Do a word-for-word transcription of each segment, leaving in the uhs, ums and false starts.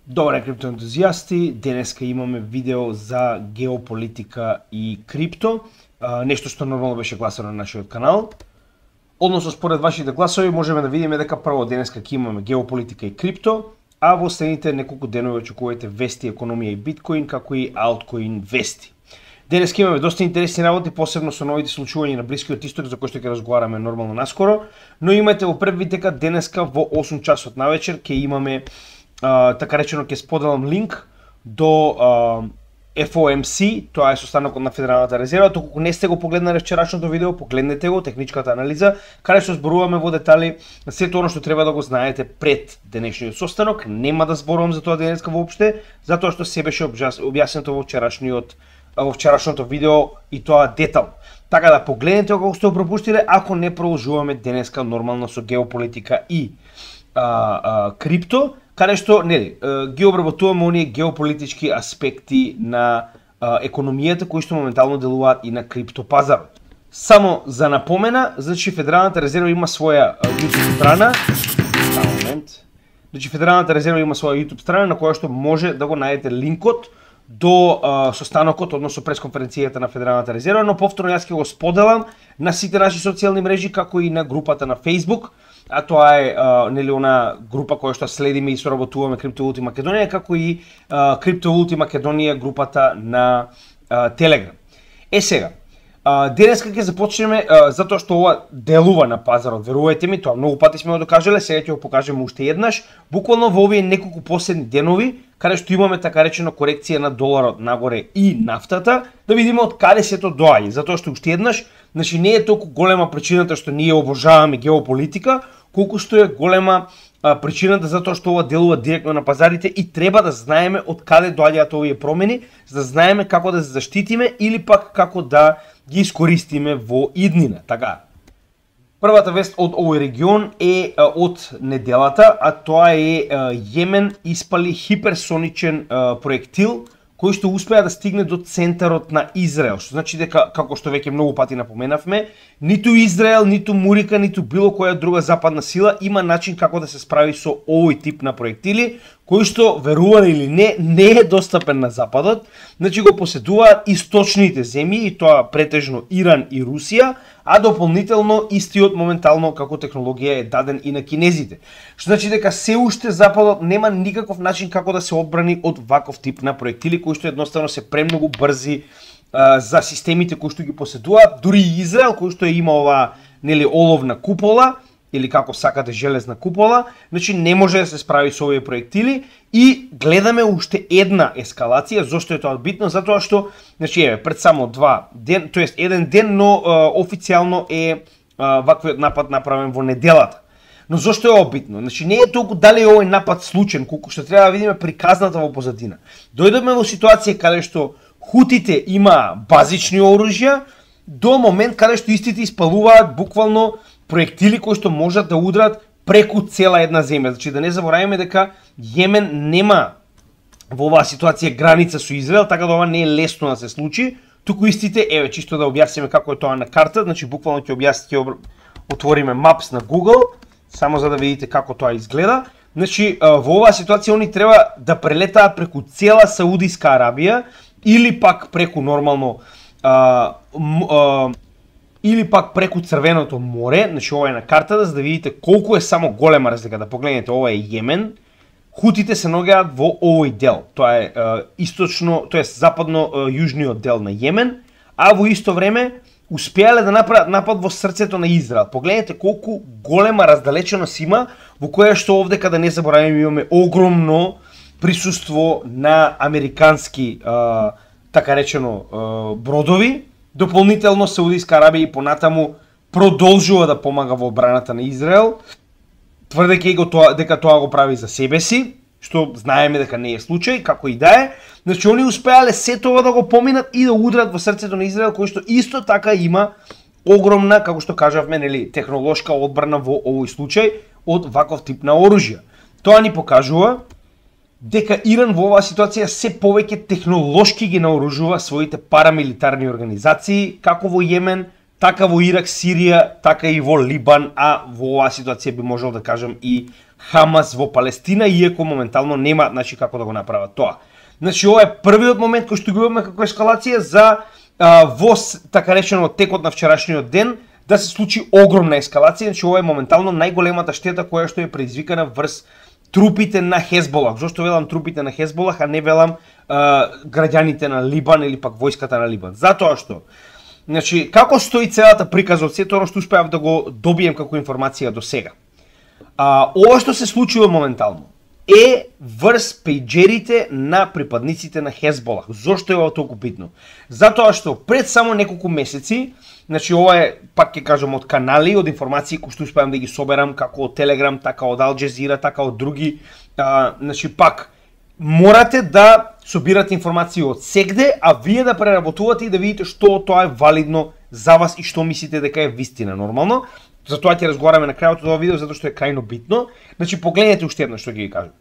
Добре, криптоентузијасти, денеска имаме видео за геополитика и крипто, нешто што нормално беше гласано на нашиот канал. Односно, според вашите гласови, можеме да видиме дека прво денеска ќе имаме геополитика и крипто, а во следните неколку денови очекувате вести, економија и биткоин, како и алткоин вести. Денеска имаме доста интересни работи, посебно со новите случувања на Блискиот Исток, за кои што ќе разговараме нормално наскоро, но имате во прв вид дека денеска во осум часот навечер ќе имаме Uh, така речено ќе споделам линк до uh, Еф О Ем Си, тоа е состанокот на Федералната резерва. Доколку не сте го погледнале вчерашното видео, погледнете го, техничката анализа, каде што зборуваме во детали сето оно што треба да го знаете пред денешниот состанок. Нема да зборувам за тоа денеска воопште, затоа што се беше објаснето во вчерашниот во вчерашното видео и тоа детал. Така да погледнете го ако сте го пропуштиле, ако не продолжуваме денеска нормално со геополитика и а, а, крипто, каде што нели ги обработуваме оние геополитички аспекти на а, економијата кои што моментално делуваат и на криптопазарот. Само за напомена, значи Федералната резерва има своја YouTube страна. Само момент. Значи Федералната резерва има своја YouTube страна на која што може да го најдете линкот до а, состанокот, односно пресконференцијата на Федералната резерва, но повторно јас ќе го споделам на сите наши социјални мрежи, како и на групата на Facebook. А тоа е а, нели она група која што следиме и соработуваме Криптовалути Македонија, како и а, Криптовалути Македонија групата на а, Телеграм. Е сега, а, денеска ќе започнеме а, затоа што ова делува на пазарот, верувајте ми, тоа многу пати сме го докажале, сега ќе го покажеме уште еднаш, буквално во овие неколку последни денови, каде што имаме така речено корекција на доларот нагоре и нафтата, да видиме од каде сето доаѓа, затоа што уште еднаш, значи не е толку голема причината што ние обожаваме геополитика, колку што е голема а, причината затоа што ова делува директно на пазарите и треба да знаеме од каде доаѓаат овие промени, за да знаеме како да се заштитиме или пак како да ги искористиме во иднина. Така. Првата вест од овој регион е а, од неделата, а тоа е а, Јемен испали хиперсоничен а, проектил кој што успеа да стигне до центарот на Израел, што значи дека, како што веќе многу пати напоменавме, ниту Израел, ниту Мурика, ниту било која друга западна сила има начин како да се справи со овој тип на проектили, кој што, верували или не, не е достапен на Западот, значи го поседуваат источните земји, и тоа претежно Иран и Русија, а дополнително истиот моментално како технологија е даден и на кинезите. Што значи дека се уште Западот нема никаков начин како да се одбрани од ваков тип на проектили, кои што едноставно се премногу брзи а, за системите кои што ги поседуваат, дури и Израел, кој што има оваа нели оловна купола, или како сакате железна купола, значи не може да се справи со овие проектили и гледаме уште една ескалација. Зошто е тоа битно? Затоа што, значи еве, пред само два ден, тоест еден ден, но а, официјално е а, ваквиот напад направен во неделата. Но зошто е ова битно? Значи не е толку дали е овој напад случен, колку што треба да видиме приказната во позадина. Дојдовме во ситуација каде што хутите има базични оружја, до момент каде што истите испалуваат буквално проектили кои што можат да удрат преку цела една земја. Значи да не забораваме дека Јемен нема во оваа ситуација граница со Израел, така да ова не е лесно да се случи. Туку истите, еве чисто да објасниме како е тоа на карта, значи буквално ќе објасниме, ќе отвориме Maps на Google, само за да видите како тоа изгледа. Значи во оваа ситуација они треба да прелетаат преку цела Саудиска Арабија или пак преку нормално а, а, или пак преку Црвеното море, значи ова е на картата, за да видите колку е само голема разлика. Да погледнете, ова е Јемен, хутите се наоѓаат во овој дел. Тоа е, е источно, тоа е западно-јужниот дел на Јемен, а во исто време успеале да направат напад во срцето на Израел. Погледнете колку голема раздалеченост има, во која што овде, када не забораваме, имаме огромно присуство на американски, е, така речено, е, бродови. Дополнително Саудиска Арабија и понатаму продолжува да помага во одбраната на Израел, тврдејќи го тоа дека тоа го прави за себе си, што знаеме дека не е случај, како и да е. Значи они успеале сето ова да го поминат и да удрат во срцето на Израел, кој што исто така има огромна, како што кажавме, нели, технолошка одбрана во овој случај од ваков тип на оружја. Тоа ни покажува дека Иран во оваа ситуација се повеќе технолошки ги наоружува своите парамилитарни организации, како во Јемен, така во Ирак, Сирија, така и во Либан, а во оваа ситуација би можел да кажем и Хамас во Палестина, иако моментално нема значи како да го направат тоа. Значи ова е првиот момент кој што го имаме како ескалација за а, во така речено текот на вчерашниот ден да се случи огромна ескалација. Значи ова е моментално најголемата штета која што е предизвикана врз трупите на Хезболах. Зошто велам трупите на Хезболах, а не велам а, граѓаните на Либан или пак војската на Либан? Затоа што значи како стои целата приказа од сето оно што успеав да го добием како информација до сега. А, ова што се случува моментално е врз пејџерите на припадниците на Хезболах. Зошто е ова толку битно? Затоа што пред само неколку месеци, значи ова е, пак ќе кажам, од канали, од информации кои што успеам да ги соберам, како од Телеграм, така од Ал Джезира, така од други, а, значи пак, морате да собирате информации од сегде, а вие да преработувате и да видите што тоа е валидно за вас и што мислите дека е вистина нормално. Затоа ќе разговараме на крајот од ова видео, затоа што е крајно битно. Значи, погледнете уште едно што ќе ги кажам.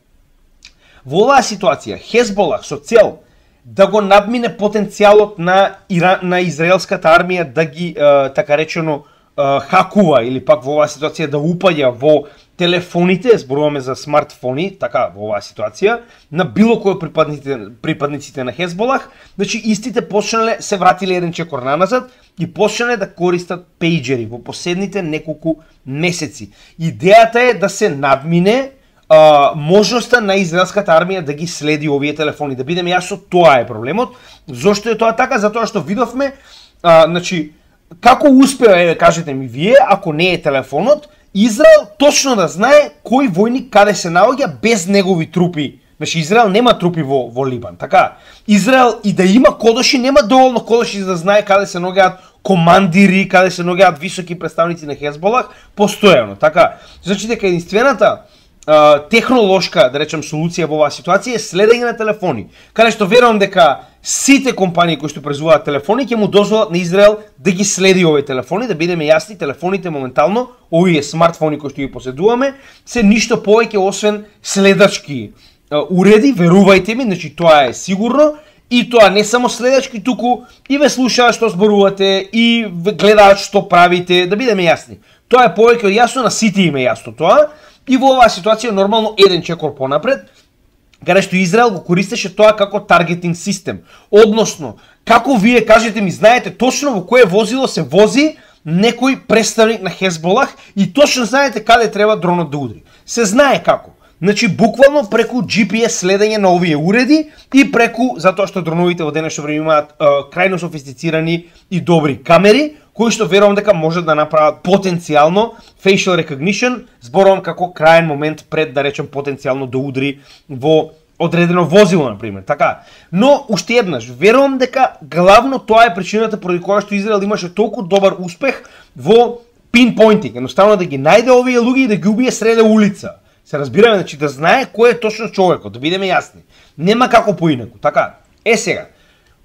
Во оваа ситуација, Хезболах со цел да го надмине потенцијалот на, Ира... на израелската армија да ги, е, така речено, е, хакува или пак во оваа ситуација да упаѓа во телефоните, зборуваме за смартфони, така во оваа ситуација, на било кој припадниците, припадниците на Хезболах, значи истите почнале, се вратиле еден чекор наназад и почнале да користат пејџери во последните неколку месеци. Идејата е да се надмине а, можноста на израелската армија да ги следи овие телефони. Да бидеме јасно, тоа е проблемот. Зошто е тоа така? Затоа што видовме, а, значи, како успеа, еве кажете ми вие, ако не е телефонот, Израел точно да знае кој војник каде се наоѓа без негови трупи. Значи Израел нема трупи во, во Либан, така? Израел и да има кодоши, нема доволно кодоши за да знае каде се наоѓаат командири, каде се наоѓаат високи представници на Хезболах, постојано, така? Значи дека единствената а, технолошка, да речем, солуција во оваа ситуација е следење на телефони. Каде што верувам дека сите компании кои што производат телефони ќе му дозволат на Израел да ги следи овие телефони, да бидеме јасни, телефоните моментално, овие смартфони кои што ги поседуваме, се ништо повеќе освен следачки уреди, верувајте ми, значи тоа е сигурно, и тоа не само следачки, туку и ве слушаат што зборувате, и гледаат што правите, да бидеме јасни. Тоа е повеќе од јасно, на сите им е јасно тоа, и во оваа ситуација нормално еден чекор понапред, каде што Израел го користеше тоа како таргетинг систем. Односно, како вие кажете ми, знаете точно во кое возило се вози некој представник на Хезболах и точно знаете каде треба дронот да удри. Се знае како. Значи, буквално преку Джи Пи Ес следење на овие уреди и преку, затоа што дроновите во денешно време имаат е, крајно софистицирани и добри камери, кои што верувам дека можат да направат потенцијално facial recognition, зборувам како крајен момент пред, да речем, потенцијално да удри во одредено возило, например, така. Но, уште еднаш, верувам дека главно тоа е причината поради која што Израел имаше толку добар успех во пинпоинтинг, едноставно да ги најде овие луѓе и да ги убие среде улица. Се разбираме, значи да знае кој е точно човекот, да бидеме јасни. Нема како поинаку, така. Е сега,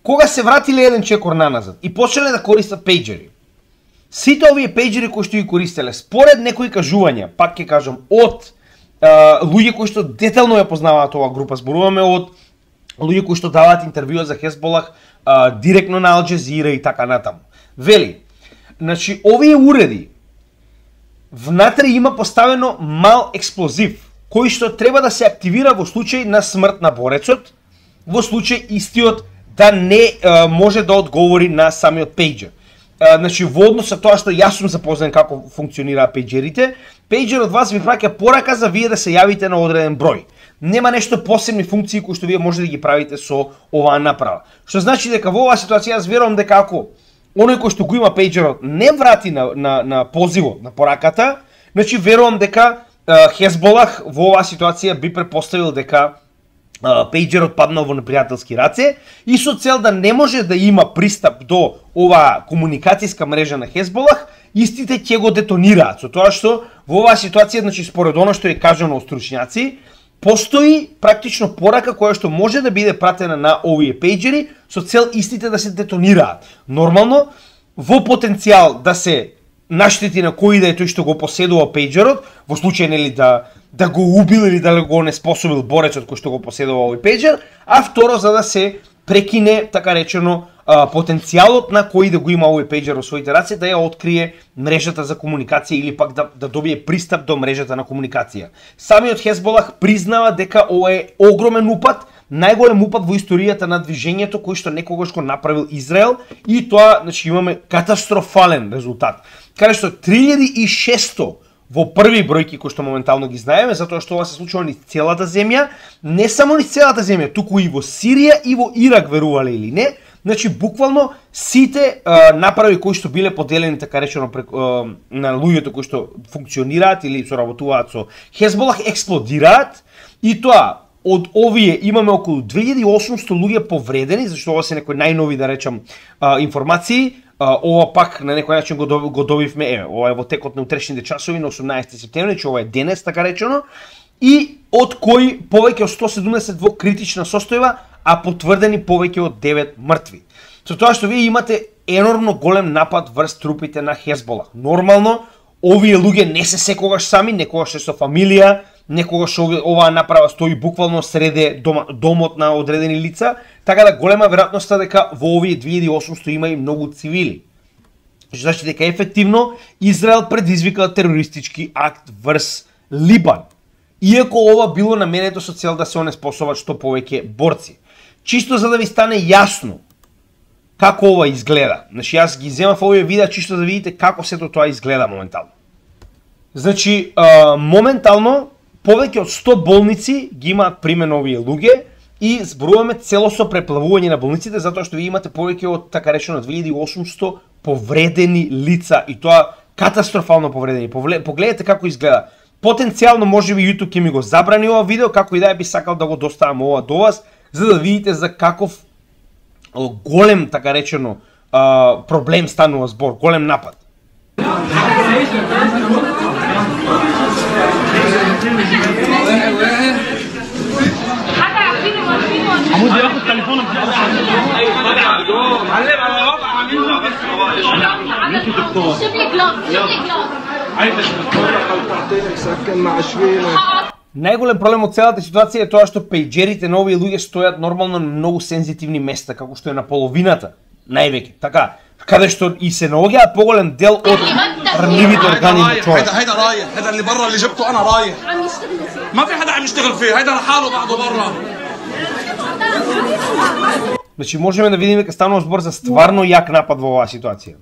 кога се вратиле еден чекор наназад и почнале да користат пејџери, сите овие пејџери кои што ги користеле, според некои кажувања, пак ќе кажам, од Uh, луѓе кои што детално ја познаваат оваа група, зборуваме од луѓе кои што даваат интервјуа за Хезболах uh, директно на Ал Джезира и така натаму. Вели, значи овие уреди внатре има поставено мал експлозив кој што треба да се активира во случај на смрт на борецот, во случај истиот да не uh, може да одговори на самиот пејџер. Uh, значи, во однос со тоа што јас сум запознан како функционираат пејџерите, пејџер од вас ви праќа порака за вие да се јавите на одреден број. Нема нешто посебни функции кои што вие може да ги правите со оваа направа. Што значи дека во оваа ситуација јас верувам дека ако оној кој што го има пејџерот не врати на, на, на позивот, на пораката, значи верувам дека uh, Хезболах во оваа ситуација би претпоставил дека пејџерот паднал во непријателски раце и со цел да не може да има пристап до оваа комуникацијска мрежа на Хезболах, истите ќе го детонираат. Со тоа што во оваа ситуација, значи според оно што е кажано од стручњаци, постои практично порака која што може да биде пратена на овие пејџери со цел истите да се детонираат. Нормално, во потенцијал да се наштети на кој да е тој што го поседува пејџерот, во случај нели да да го убил или да го неспособил борецот кој што го поседува овој пејџер, а второ за да се прекине, така речено, потенцијалот на кој да го има овој пејџер во своите раце, да ја открие мрежата за комуникација или пак да, да добие пристап до мрежата на комуникација. Самиот Хезболах признава дека ова е огромен упад, најголем упад во историјата на движењето кој што некогаш го направил Израел, и тоа, значи, имаме катастрофален резултат. Каде што три илјади и шесто во први бројки кои што моментално ги знаеме, затоа што ова се случува низ целата земја, не само низ целата земја, туку и во Сирија и во Ирак, верувале или не. Значи, буквално сите а, направи кои што биле поделени, така речено, прек, а, на луѓето кои што функционираат или соработуваат со Хезболах, експлодираат, и тоа од овие имаме околу две илјади и осумсто луѓе повредени, зашто ова се некои најнови, да речам, а, информации. А, ова пак на некој начин го, доб, го добивме, еве, ова е во текот на утрешните часови на осумнаесети септември, че ова е денес, така речено, и од кои повеќе од сто седумдесет во критична состојба, а потврдени повеќе од девет мртви. Со тоа што вие имате енормно голем напад врз трупите на Хезболах. Нормално, овие луѓе не се секогаш сами, некогаш се со фамилија, некогаш оваа направа стои буквално среде дома, домот на одредени лица, така да голема веројатноста дека во овие две илјади и осумсто има и многу цивили. Значи дека ефективно Израел предизвика терористички акт врз Либан. Иако ова било наменето со цел да се онеспособат што повеќе борци. Чисто за да ви стане јасно како ова изгледа. Значи јас ги земав овие видеа чисто да видите како сето тоа изгледа моментално. Значи, а, моментално повеќе од сто болници ги имаат примен овие луѓе и зборуваме целосно преплавување на болниците, затоа што ви имате повеќе од, така речено, две илјади и осумсто повредени лица, и тоа катастрофално повредени. Погледнете како изгледа. Потенцијално можеби YouTube ќе ми го забрани ова видео, како и да би сакал да го доставам ова до вас, за да видите за каков голем, така речено, проблем станува збор, голем напад. عمود ياخد تليفونك معلم على وضع عاملين دكتور شوف لي جلاس شوف لي جلاس عايزك تتفرج او تعطيني سكن مع شوينه. Најголем проблем од целата ситуација е тоа што пејџерите на овие луѓе стојат нормално на многу сензитивни места, како што е на половината, највеќе, така, каде што и се наоѓаат поголем дел од рнливите органи на човек. هيدا رايح هيدا اللي برا اللي جبته انا رايح عم يشتغل ما في حدا عم يشتغل فيه هيدا لحاله بعده برا. Значи можеме да видиме дека станува збор за стварно јак напад во оваа ситуација.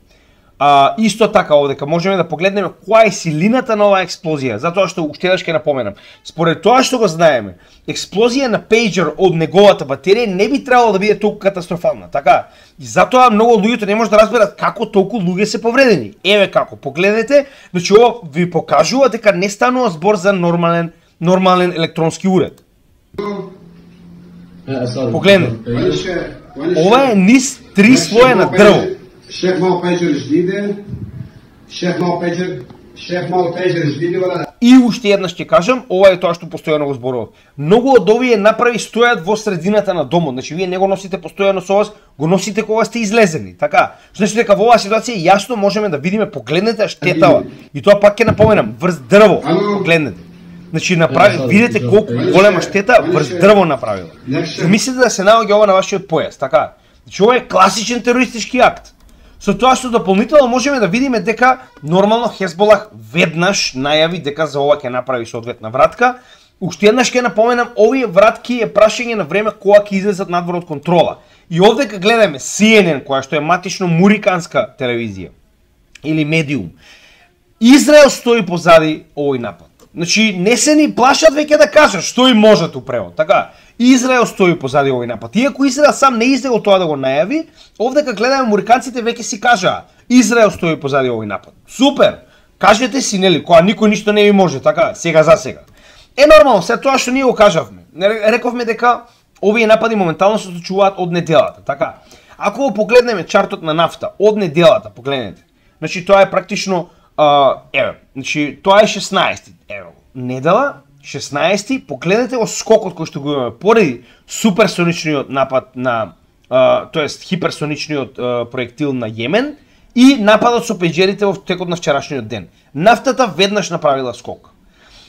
А, исто така овдека можеме да погледнеме која е силината на оваа експлозија, затоа што уште еднаш ќе напоменам. Според тоа што го знаеме, експлозија на пејџер од неговата батерија не би требало да биде толку катастрофална, така? И затоа многу луѓето не може да разберат како толку луѓе се повредени. Еве како, погледнете, значи ова ви покажува дека не станува збор за нормален нормален електронски уред. Погледнете. Ова е низ три слоја на дрво. الشيخ معه بيجر جديدة الشيخ معه بيجر الشيخ معه بيجر جديدة ولا لا؟ И уште еднаш ќе кажам, ова е тоа што постојано го зборував. Многу од овие направи стојат во средината на домот, значи вие не го носите постојано со вас, го носите кога сте излезени, така? Значи дека во оваа ситуација јасно можеме да видиме, погледнете штетава. И тоа пак ќе напоменам, врз дрво, погледнете. Значи направи, видите колку голема штета врз дрво направила. Мислите да се наоѓа ова на вашиот појас, така? Значи ова е класичен терористички акт. Со тоа што дополнително можеме да видиме дека нормално Хезболах веднаш најави дека за ова ќе направи соодветна вратка. Уште еднаш ќе напоменам, овие вратки е прашање на време кога ќе излезат надвор од контрола. И овдека гледаме Си Ен Ен, која што е матично муриканска телевизија или медиум. Израел стои позади овој напад. Значи не се ни плашат веќе да кажат што им можат у превод, така? Израел стои позади овој напад. Иако Израел сам не излегол тоа да го најави, овдека гледаме муриканците веќе си кажаа Израел стои позади овој напад. Супер! Кажете си, нели, кога никој ништо не ви може, така, сега за сега. Е нормално, се тоа што ние го кажавме. Рековме дека овие напади моментално се случуваат од неделата, така. Ако го погледнеме чартот на нафта од неделата, погледнете. Значи тоа е практично uh, еве, значи тоа е шеснаесети, еве, недела шеснаесети, погледнете го скокот кој што го имаме поради суперсоничниот напад на, uh, тоест хиперсоничниот uh, проектил на Јемен и нападот со пејџерите во текот на вчерашниот ден. Нафтата веднаш направила скок.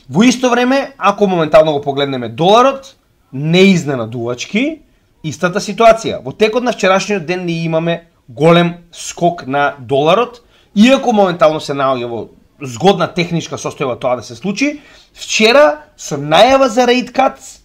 Во исто време, ако моментално го погледнеме доларот, неизненадувачки, истата ситуација. Во текот на вчерашниот ден ние имаме голем скок на доларот, иако моментално се наоѓа во згодна техничка состојба тоа да се случи. Вчера со најава за rate cuts,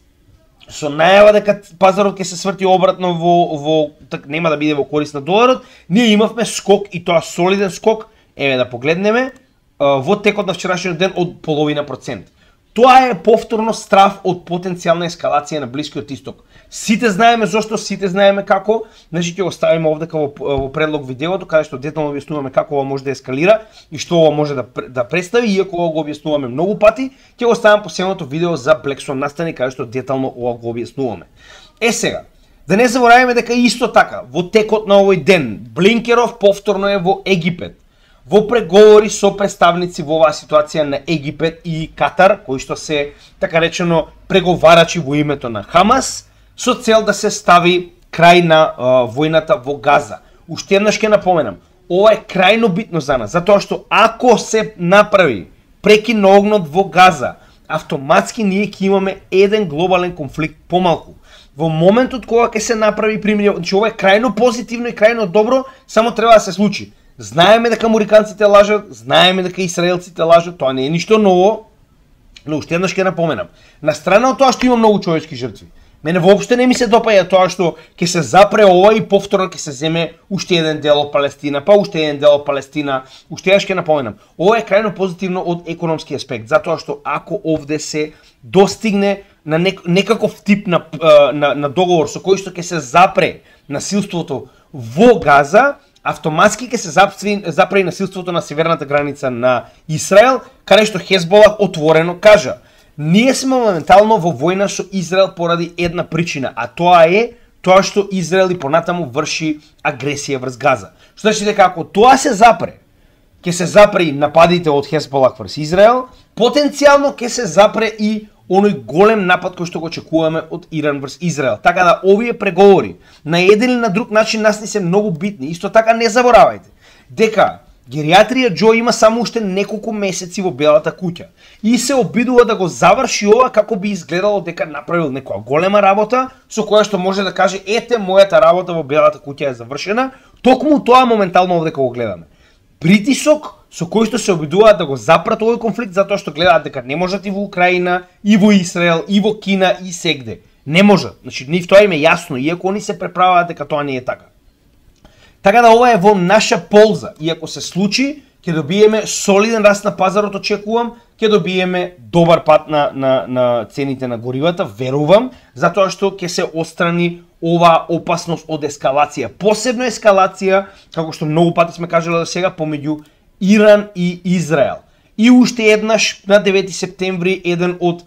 со најава дека пазарот ќе се сврти обратно во во так нема да биде во корист на доларот, ние имавме скок и тоа солиден скок, еве да погледнеме, во текот на вчерашниот ден од половина процент. Тоа е повторно страв од потенцијална ескалација на Блискиот Исток. Сите знаеме зошто, сите знаеме како, значи ќе го ставиме овдека во, во предлог видеото, каде што детално објаснуваме како ова може да ескалира и што ова може да, да представи, иако ова го објаснуваме многу пати, ќе го ставам последното видео за Black Swan настани, каде што детално ова го објаснуваме. Е сега, да не забораваме дека исто така, во текот на овој ден, Блинкеров повторно е во Египет, во преговори со представници во оваа ситуација на Египет и Катар, кои што се, така речено, преговарачи во името на Хамас, со цел да се стави крај на а, војната во Газа. Уште еднаш ќе напоменам, ова е крајно битно за нас, затоа што ако се направи прекин на огнот во Газа, автоматски ние ќе имаме еден глобален конфликт помалку. Во моментот кога ќе се направи пример, значи ова е крајно позитивно и крајно добро, само треба да се случи. Знаеме дека американците лажат, знаеме дека израелците лажат, тоа не е ништо ново, но уште еднаш ќе напоменам. На страна од тоа што има многу човечки жртви, мене воопште не ми се допаѓа тоа што ќе се запре ова и повторно ќе се земе уште еден дел од Палестина, па уште еден дел од Палестина. Уште еднаш ќе напоменам. Ова е крајно позитивно од економски аспект, затоа што ако овде се достигне на нек, некаков тип на, на, на договор со кој што ќе се запре насилството во Газа, автоматски ќе се запре и насилството на северната граница на Израел, каде што Хезболах отворено кажа: ние сме моментално во војна со Израел поради една причина, а тоа е тоа што Израел и понатаму врши агресија врз Газа. Што значи дека ако тоа се запре, ќе се запре и нападите од Хезболах врз Израел, потенцијално ќе се запре и оној голем напад кој што го очекуваме од Иран врз Израел. Така да овие преговори на еден или на друг начин нас ни се многу битни. Исто така не заборавајте дека гериатрија Џо има само уште неколку месеци во Белата куќа и се обидува да го заврши ова како би изгледало дека направил некоја голема работа со која што може да каже: ете, мојата работа во Белата куќа е завршена. Токму тоа моментално овде кога го гледаме. Притисок со кој што се обидуваат да го запрат овој конфликт затоа што гледаат дека не можат и во Украина, и во Израел, и во Кина, и сегде. Не можат. Значи, нив тоа им е јасно, иако они се преправаат дека тоа не е така. Така да ова е во наша полза, и ако се случи, ќе добиеме солиден раст на пазарот, очекувам, ќе добиеме добар пат на, на, на цените на горивата, верувам, затоа што ќе се отстрани ова опасност од ескалација. Посебно ескалација, како што многу пати сме кажале до сега, помеѓу Иран и Израел. И уште еднаш на девети септември еден од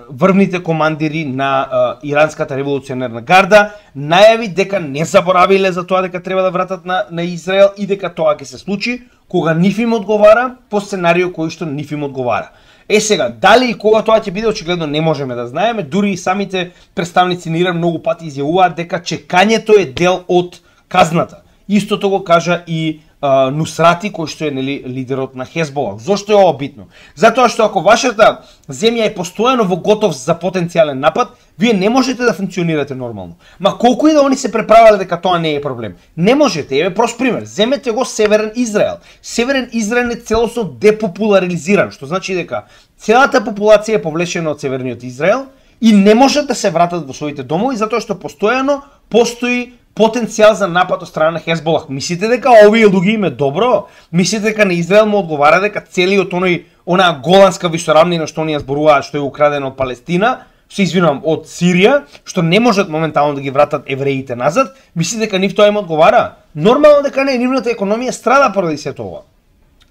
врвните командири на а, иранската револуционерна гарда најави дека не заборавиле за тоа дека треба да вратат на, на Израел и дека тоа ќе се случи кога нив им одговара по сценарио кој што нив им одговара. Е сега, дали и кога тоа ќе биде, очигледно не можеме да знаеме, дури и самите представници на Иран многу пати изјавуваат дека чекањето е дел од казната. Истото го кажа и Uh, Нусрати, кој што е нели лидерот на Хезболах. Зошто е ова битно? Затоа што ако вашата земја е постојано во готов за потенцијален напад, вие не можете да функционирате нормално. Ма колку и да они се преправале дека тоа не е проблем. Не можете. Еве прост пример. Земете го Северен Израел. Северен Израел е целосно депопуларизиран, што значи дека целата популација е повлечена од Северниот Израел и не можат да се вратат во своите домови затоа што постојано постои потенцијал за напад од страна на Хезболах. Мислите дека овие луѓе им е добро? Мислите дека на Израел му одговара дека целиот оној онаа голанска висорамнина што оние зборуваат што е украдена од Палестина, се извинувам, од Сирија, што не можат моментално да ги вратат евреите назад, мислите дека нив тоа им одговара? Нормално дека не, нивната економија страда поради сето ова.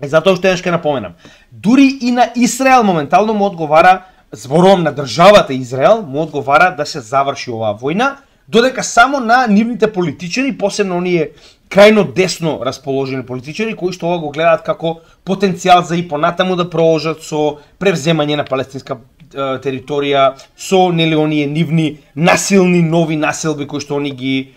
И затоа што еднаш ќе напоменам, дури и на Израел моментално му одговара, зборувам на државата Израел, му одговара да се заврши оваа војна, додека само на нивните политичари, посебно оние крајно десно расположени политичари, кои што ова го гледаат како потенцијал за и понатаму да продолжат со превземање на палестинска е, територија, со нели оние нивни насилни нови населби кои што они ги е,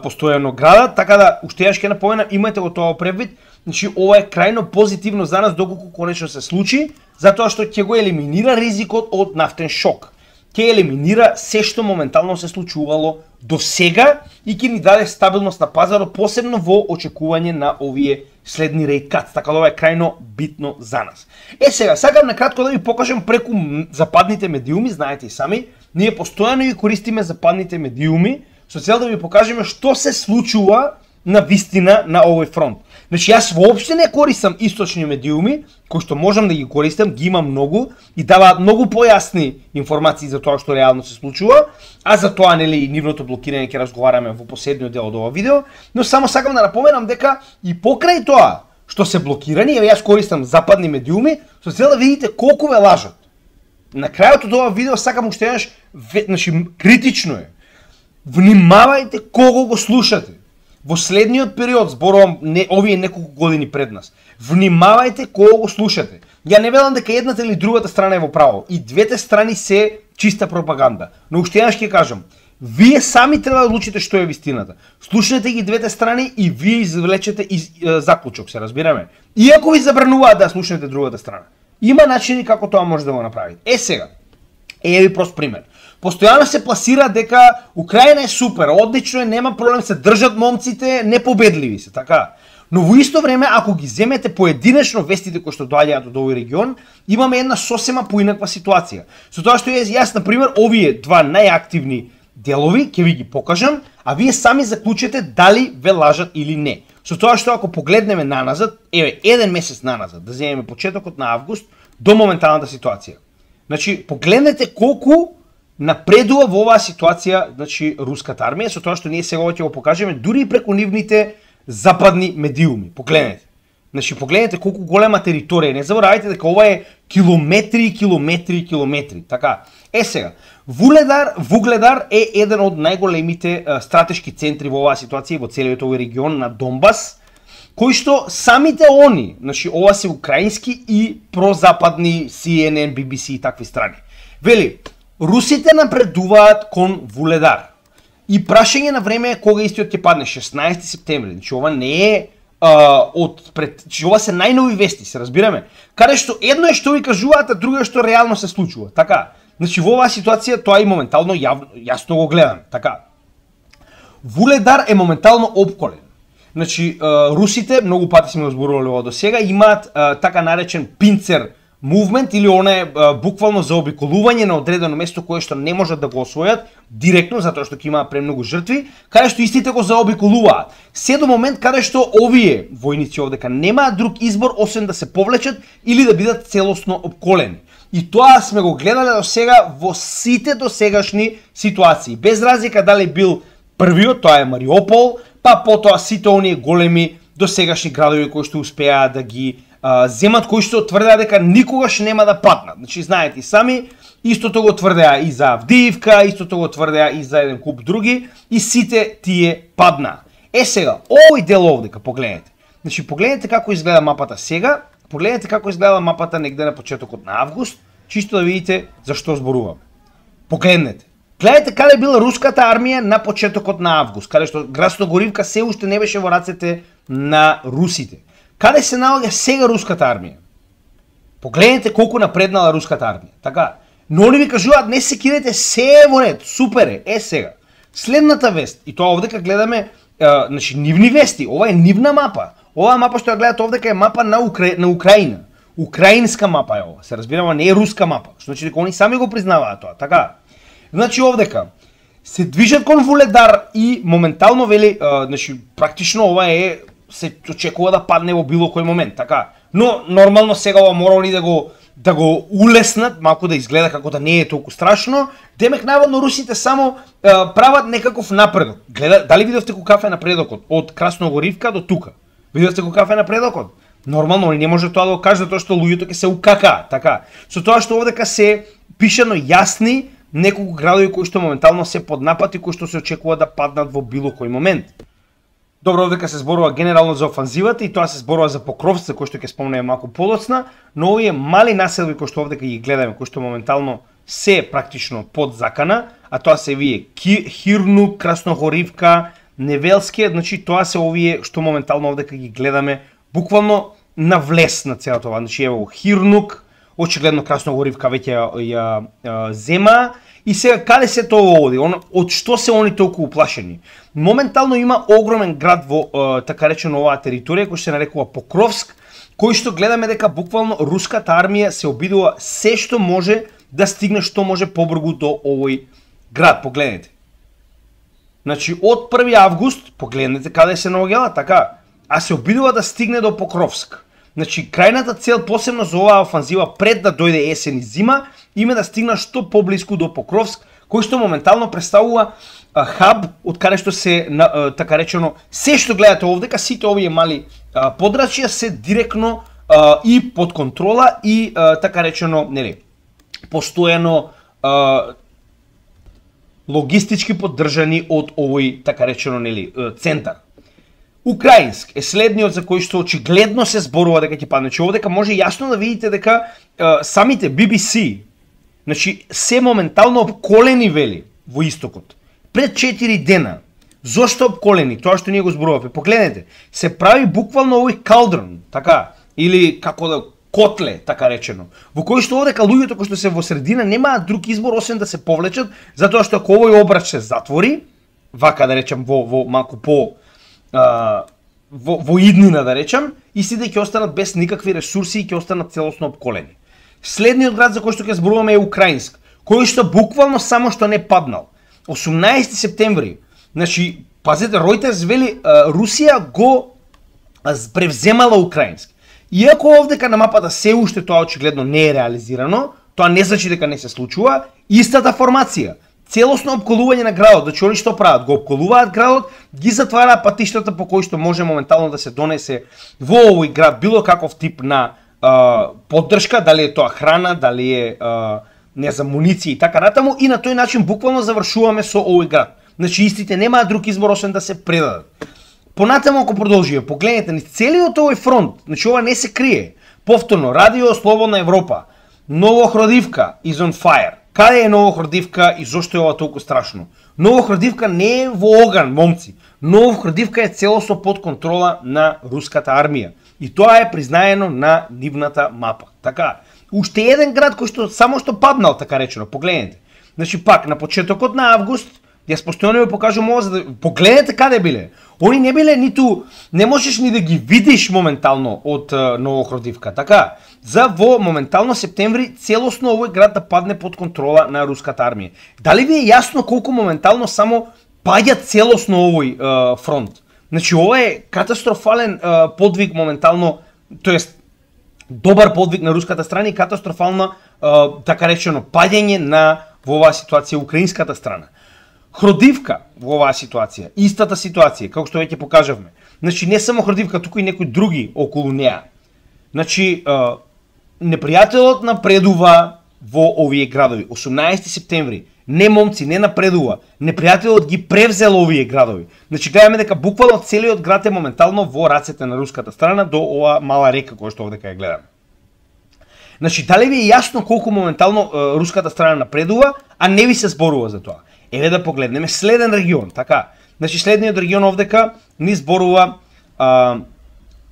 постојано градат. Така да, уште еднаш ќе напоменам, имајте го тоа превид. Значи, ова е крајно позитивно за нас доколку конечно се случи, затоа што ќе го елиминира ризикот од нафтен шок. ќе елиминира се што моментално се случувало до сега и ќе ни даде стабилност на пазарот, посебно во очекување на овие следни rate cuts, така да ова е крајно битно за нас. Е сега, сакам накратко да ви покажам преку западните медиуми, знаете и сами, ние постојано ги користиме западните медиуми со цел да ви покажеме што се случува на вистина на овој фронт. Значи јас воопште не користам источни медиуми, кои што можам да ги користам, ги имам многу и даваат многу појасни информации за тоа што реално се случува, а за тоа нели и нивното блокирање ќе разговараме во последниот дел од ова видео, но само сакам да напоменам дека и покрај тоа што се блокирани, еве јас користам западни медиуми, со цел да видите колку ве лажат. На крајот од ова видео сакам уште еднаш, значи критично е. Внимавајте кого го слушате. Во следниот период, зборувам не, овие неколку години пред нас, внимавајте кого го слушате. Ја не велам дека едната или другата страна е во право. И двете страни се чиста пропаганда. Но уште еднаш ќе кажам, вие сами треба да одлучите што е вистината. Слушнете ги двете страни и вие извлечете из, е, заклучок, се разбираме. Иако ви забрануваат да слушнете другата страна. Има начини како тоа може да го направите. Е сега, е ви прост пример. Постојано се пласира дека Украина е супер, одлично е, нема проблем, се држат момците, непобедливи се, така. Но во исто време, ако ги земете поединечно вестите кои што доаѓаат од овој регион, имаме една сосема поинаква ситуација. Со тоа што јас, јас, например, овие два најактивни делови, ќе ви ги покажам, а вие сами заклучете дали ве лажат или не. Со тоа што ако погледнеме наназад, еве, еден месец наназад, да земеме почетокот на август, до моменталната ситуација. Значи, погледнете колку напредува во оваа ситуација, значи, руската армија, со тоа што ние сега ќе го покажеме дури и преку нивните западни медиуми. Погледнете. Значи, погледнете колку голема територија. Не заборавајте дека ова е километри и километри и километри. Така. Е сега, Вугледар, Вугледар е еден од најголемите а, стратешки центри во оваа ситуација во целиот овој регион на Донбас, кои што самите они, значи, ова се украински и прозападни Си Ен Ен, Би Би Си и такви страни. Вели, русите напредуваат кон Вугледар. И прашање на време е кога истиот ќе падне, шеснаесети септември. Значи ова не е а, од пред, значи ова се најнови вести, се разбираме. Каде што едно е што ви кажуваат, а друго е што реално се случува. Така. Значи во оваа ситуација тоа и моментално јавно, јасно го гледаме. Така. Вугледар е моментално опколен. Значи а, русите, многу пати сме го зборувале ова до сега, имаат а, така наречен пинцер movement или она е а, буквално заобиколување на одредено место кое што не можат да го освојат директно затоа што ќе имаат премногу жртви, каде што истите го заобиколуваат. Се до момент каде што овие војници овдека немаат друг избор освен да се повлечат или да бидат целосно опколени. И тоа сме го гледале до сега во сите досегашни ситуации. Без разлика дали бил првиот, тоа е Мариупол, па потоа сите оние големи досегашни градови кои што успеаат да ги а, земат, кои што тврдеа дека никогаш нема да паднат. Значи знаете и сами, истото го тврдеа и за Авдиивка, истото го тврдеа и за еден куп други, и сите тие паднаа. Е сега, овој дел овдека погледнете. Значи погледнете како изгледа мапата сега, погледнете како изгледа мапата негде на почетокот на август, чисто да видите за што зборуваме. Погледнете. Гледайте каде била руската армија на почетокот на август, каде што Красногоривка се уште не беше во рацете на русите. Каде се наоѓа сега руската армија? Погледнете колку напреднала руската армија. Така, но они ви кажуваат не се кидете, се е во ред, супер е. Е сега, следната вест, и тоа овдека гледаме, е, значи нивни вести, ова е нивна мапа. Оваа мапа што ја гледате овдека е мапа на, Укра... на Украина. Украинска мапа е ова, се разбираме, не е руска мапа. Значи дека они сами го признаваат тоа, така. Значи овдека се движат кон Вугледар и моментално вели, а, значи практично ова е се очекува да падне во било кој момент, така. Но нормално сега ова морали да го да го улеснат, малку да изгледа како да не е толку страшно. Демек наводно русите само а, прават некаков напредок. Гледа, дали видовте каков е напредокот од Красногоривка до тука? Видовте каков е напредокот? Нормално не може тоа да го каже затоа што луѓето ќе се укакаат, така. Со тоа што овдека се пишано јасни неколку градови кои што моментално се под напад и кои што се очекува да паднат во било кој момент. Добро, овдека се зборува генерално за офанзивата и тоа се зборува за Покровци, кој што ќе спомнеме малку подоцна, но овие мали населби кои што овдека ги гледаме, кои што моментално се практично под закана, а тоа се вие Хирнук, Красногоривка, Невелски, значи тоа се овие што моментално овдека ги гледаме буквално на влез на целото ова. Значи ево Хирнук, очигледно Красногоривка веќе ја, ја, ја зема. И сега каде се тоа оди? Он, од што се они толку уплашени? Моментално има огромен град во е, така речено оваа територија кој се нарекува Покровск, кој што гледаме дека буквално руската армија се обидува се што може да стигне што може побрзо до овој град. Погледнете. Значи од први август, погледнете каде се наоѓала, така, а се обидува да стигне до Покровск. Значи крајната цел посебно за оваа офанзива пред да дојде есен и зима, име да стигна што поблиску до Покровск, кој што моментално представува а, хаб од каде што се на, а, така речено се што гледате овдека, сите овие мали а, подрачја се директно а, и под контрола и а, така речено, нели, постојано а, логистички поддржани од овој така речено, нели, центар. Украинск е следниот за кој што очигледно се зборува дека ќе падне. Че овдека може јасно да видите дека е, самите би би си, значи се моментално обколени вели во истокот. Пред четири дена. Зошто обколени? Тоа што ние го зборуваме. Погледнете, се прави буквално овој калдрон, така, или како да котле, така речено, во кој што овдека луѓето кои што се во средина немаат друг избор освен да се повлечат, затоа што ако овој обрач се затвори, вака да речем во, во малку по Uh, во, во иднина да речам, истите ќе останат без никакви ресурси и ќе останат целосно обколени. Следниот град за кој што ќе зборуваме е Украинск, кој што буквално само што не паднал. осумнаесети септември, значи, пазете, Reuters вели, uh, Русија го uh, превземала Украинск. Иако овдека на мапата се уште тоа очигледно не е реализирано, тоа не значи дека не се случува, истата формација. Целосно обколување на градот, значи они што прават? Го обколуваат градот, ги затвараат патиштата по кои што може моментално да се донесе во овој град било каков тип на а, поддршка, дали е тоа храна, дали е а, не знам, муниции и така натаму, и на тој начин буквално завршуваме со овој град. Значи истите немаат друг избор освен да се предадат. Понатаму ако продолжиме, погледнете ни целиот овој фронт, значи ова не се крие. Повторно, Радио Слободна Европа, Новохродивка is on fire. Каде е Новохродивка и зошто е ова толку страшно? Новохродивка не е во оган, момци. Новохродивка е целосно под контрола на руската армија. И тоа е признаено на нивната мапа. Така, уште еден град кој што само што паднал, така речено, погледнете. Значи пак, на почетокот на август, јас постојано ви покажувам ова, за да погледнете каде биле. Они не биле ниту, не можеш ни да ги видиш моментално од uh, Новохродивка, така. За во моментално септември целосно овој град да падне под контрола на руската армија. Дали ви е јасно колку моментално само паѓа целосно овој uh, фронт? Значи ова е катастрофален uh, подвиг моментално, тоест добар подвиг на руската страна и катастрофална uh, така речено паѓање на во оваа ситуација украинската страна. Хродивка во оваа ситуација, истата ситуација, како што веќе покажавме. Значи не само Хродивка, туку и некои други околу неа. Значи uh, непријателот напредува во овие градови. осумнаесети септември. Не момци, не напредува. Непријателот ги превзел овие градови. Значи гледаме дека буквално целиот град е моментално во рацете на руската страна до оваа мала река која што овдека ја гледаме. Значи дали ви е јасно колку моментално е, руската страна напредува, а не ви се зборува за тоа? Еве да погледнеме следен регион, така. Значи следниот регион овдека ни зборува а,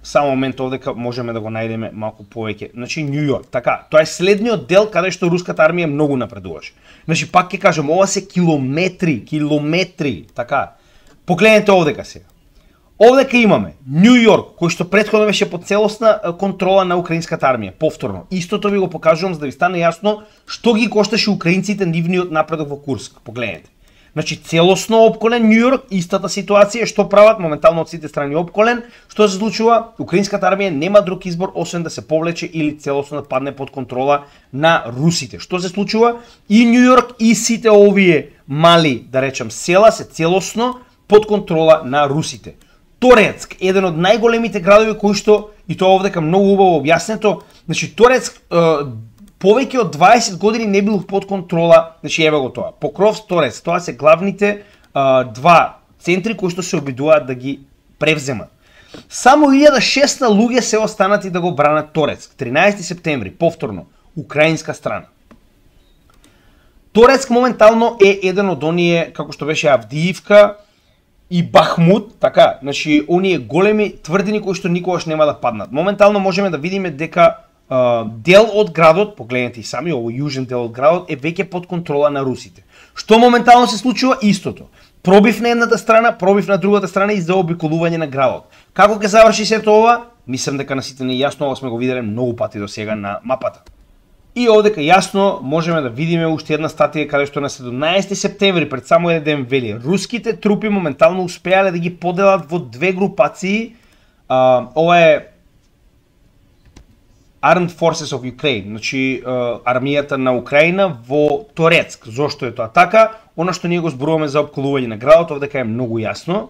само момент овдека можеме да го најдеме малку повеќе. Значи Њу Јорк, така. Тоа е следниот дел каде што руската армија многу напредуваше. Значи пак ќе кажам, ова се километри, километри, така. Погледнете овдека сега. Овдека имаме Њу Јорк, кој што претходно беше под целосна контрола на украинската армија. Повторно, истото ви го покажувам за да ви стане јасно што ги кошташе украинците нивниот напредок во Курск. Погледнете. Значи целосно обколен Њу Јорк, истата ситуација, што прават моментално од сите страни обколен, што се случува? Украинската армија нема друг избор освен да се повлече или целосно да падне под контрола на русите. Што се случува? И Њу Јорк и сите овие мали, да речем, села се целосно под контрола на русите. Торецк, еден од најголемите градови кои што, и тоа овдека многу убаво објаснето, значи Торецк е, повеќе од дваесет години не бил под контрола, значи еве го тоа. Покровск, Торецк, тоа се главните е, два центри кои што се обидуваат да ги превземат. Само илјада шестста луѓе се останати да го бранат Торецк. тринаесети септември, повторно, украинска страна. Торецк моментално е еден од оние, како што беше Авдиивка и Бахмут, така, значи оние големи тврдини кои што никогаш нема да паднат. Моментално можеме да видиме дека дел од градот, погледнете и сами, овој јужен дел од градот е веќе под контрола на русите. Што моментално се случува? Истото. Пробив на едната страна, пробив на другата страна и заобиколување на градот. Како ќе заврши сето ова? Мислам дека на сите не е јасно, ова сме го виделе многу пати до сега на мапата. И овдека јасно можеме да видиме уште една статија каде што на седумнаесети септември пред само еден ден вели: руските трупи моментално успеале да ги поделат во две групации. А, ова е Armed Forces of Ukraine, значи армијата на Украина во Торецк. Зошто е тоа така? Она што ние го зборуваме за опколување на градот, овдека е многу јасно.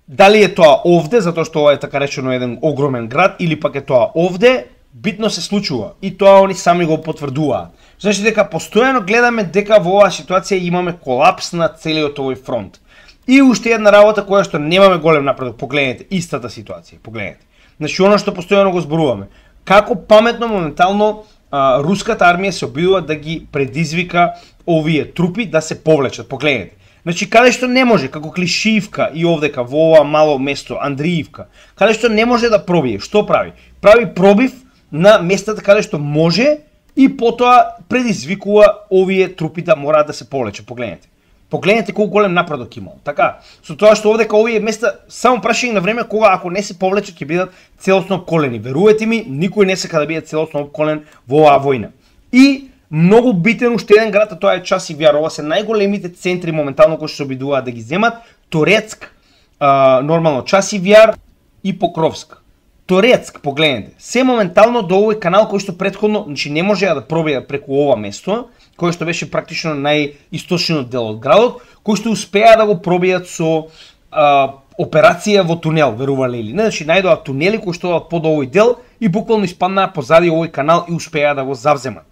Дали е тоа овде, затоа што ова е така речено еден огромен град, или пак е тоа овде, битно се случува. И тоа они сами го потврдуваат. Значи дека постојано гледаме дека во оваа ситуација имаме колапс на целиот овој фронт. И уште една работа која што немаме голем напредок, погледнете истата ситуација, погледнете. Значи оно што постојано го зборуваме. Како паметно моментално а, руската армија се обидува да ги предизвика овие трупи да се повлечат, погледнете. Значи каде што не може, како Клишиевка и овдека во ова мало место Андриевка, каде што не може да пробие, што прави? Прави пробив на местата каде што може и потоа предизвикува овие трупи да мораат да се повлечат, погледнете. Погледнете колку голем напредок имал. Така, со тоа што овдека овие места само прашање на време кога ако не се повлечат ќе бидат целосно обколени. Верувате ми, никој не сака да биде целосно обколен во оваа војна. И многу битен уште еден град, а тоа е Часивјар. Ова се најголемите центри моментално кои што се обидуваат да ги земат. Торецк, а, нормално Часивјар и Покровск. Торецк, погледнете, се моментално до овој канал кој што претходно, значи не можеа да пробијат преку ова место, кој што беше практично најисточниот дел од градот, кој што успеа да го пробијат со а, операција во тунел, верувале или не, значи најдоа тунели кои што под овој дел и буквално испаднаа позади овој канал и успеа да го завземат.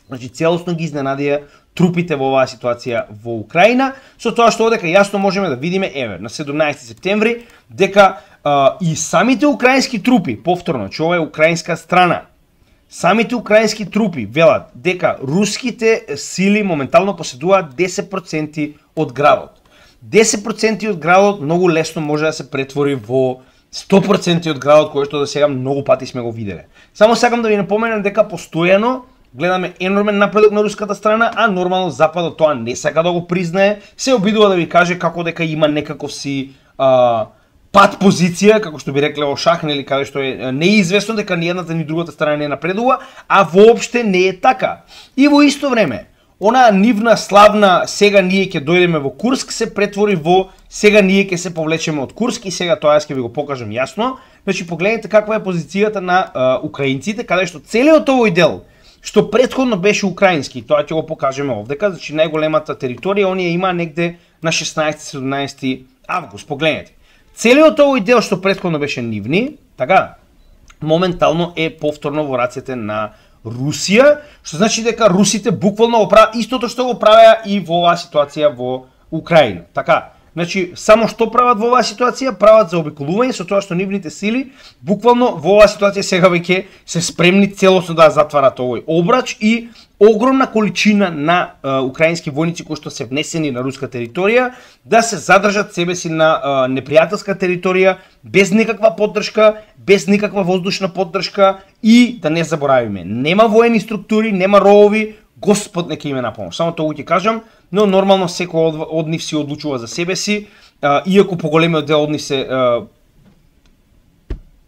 Значи целосно ги изненадија трупите во оваа ситуација во Украина, со тоа што одека јасно можеме да видиме, еве, на седумнаесети септември, дека а, и самите украински трупи, повторно, че ова е украинска страна, самите украински трупи велат дека руските сили моментално поседуваат десет проценти од градот. десет проценти од градот многу лесно може да се претвори во сто проценти од градот кој што до сега многу пати сме го виделе. Само сакам да ви напоменам дека постојано гледаме енормен напредок на руската страна, а нормално Западот тоа не сака да го признае, се обидува да ви каже како дека има некаков си а, пат позиција, како што би рекле во шах, нели, каде што е неизвестно дека ни едната ни другата страна не напредува, а воопште не е така. И во исто време, она нивна славна сега ние ќе дојдеме во Курск се претвори во сега ние ќе се повлечеме од Курск и сега тоа ќе ви го покажам јасно. Значи погледнете каква е позицијата на а, украинците, каде што целиот овој дел што претходно беше украински, тоа ќе го покажеме овдека, значи најголемата територија оние има негде на шеснаесети-седумнаесети август, погледнете. Целиот овој дел што претходно беше нивни, така, моментално е повторно во рацете на Русија, што значи дека русите буквално го прават истото што го правеа и во оваа ситуација во Украина. Така, значи само што прават во оваа ситуација, прават заобиколување со тоа што нивните сили буквално во оваа ситуација сега веќе се спремни целосно да затварат овој обрач и огромна количина на а, украински војници кои што се внесени на руска територија да се задржат себе си на а, непријателска територија без никаква поддршка, без никаква воздушна поддршка и да не заборавиме, нема воени структури, нема ровови, Господ нека им е на помош. Само тоа ќе кажам, но нормално секој од, од нив си одлучува за себе си, а, иако поголемиот дел од нив се а,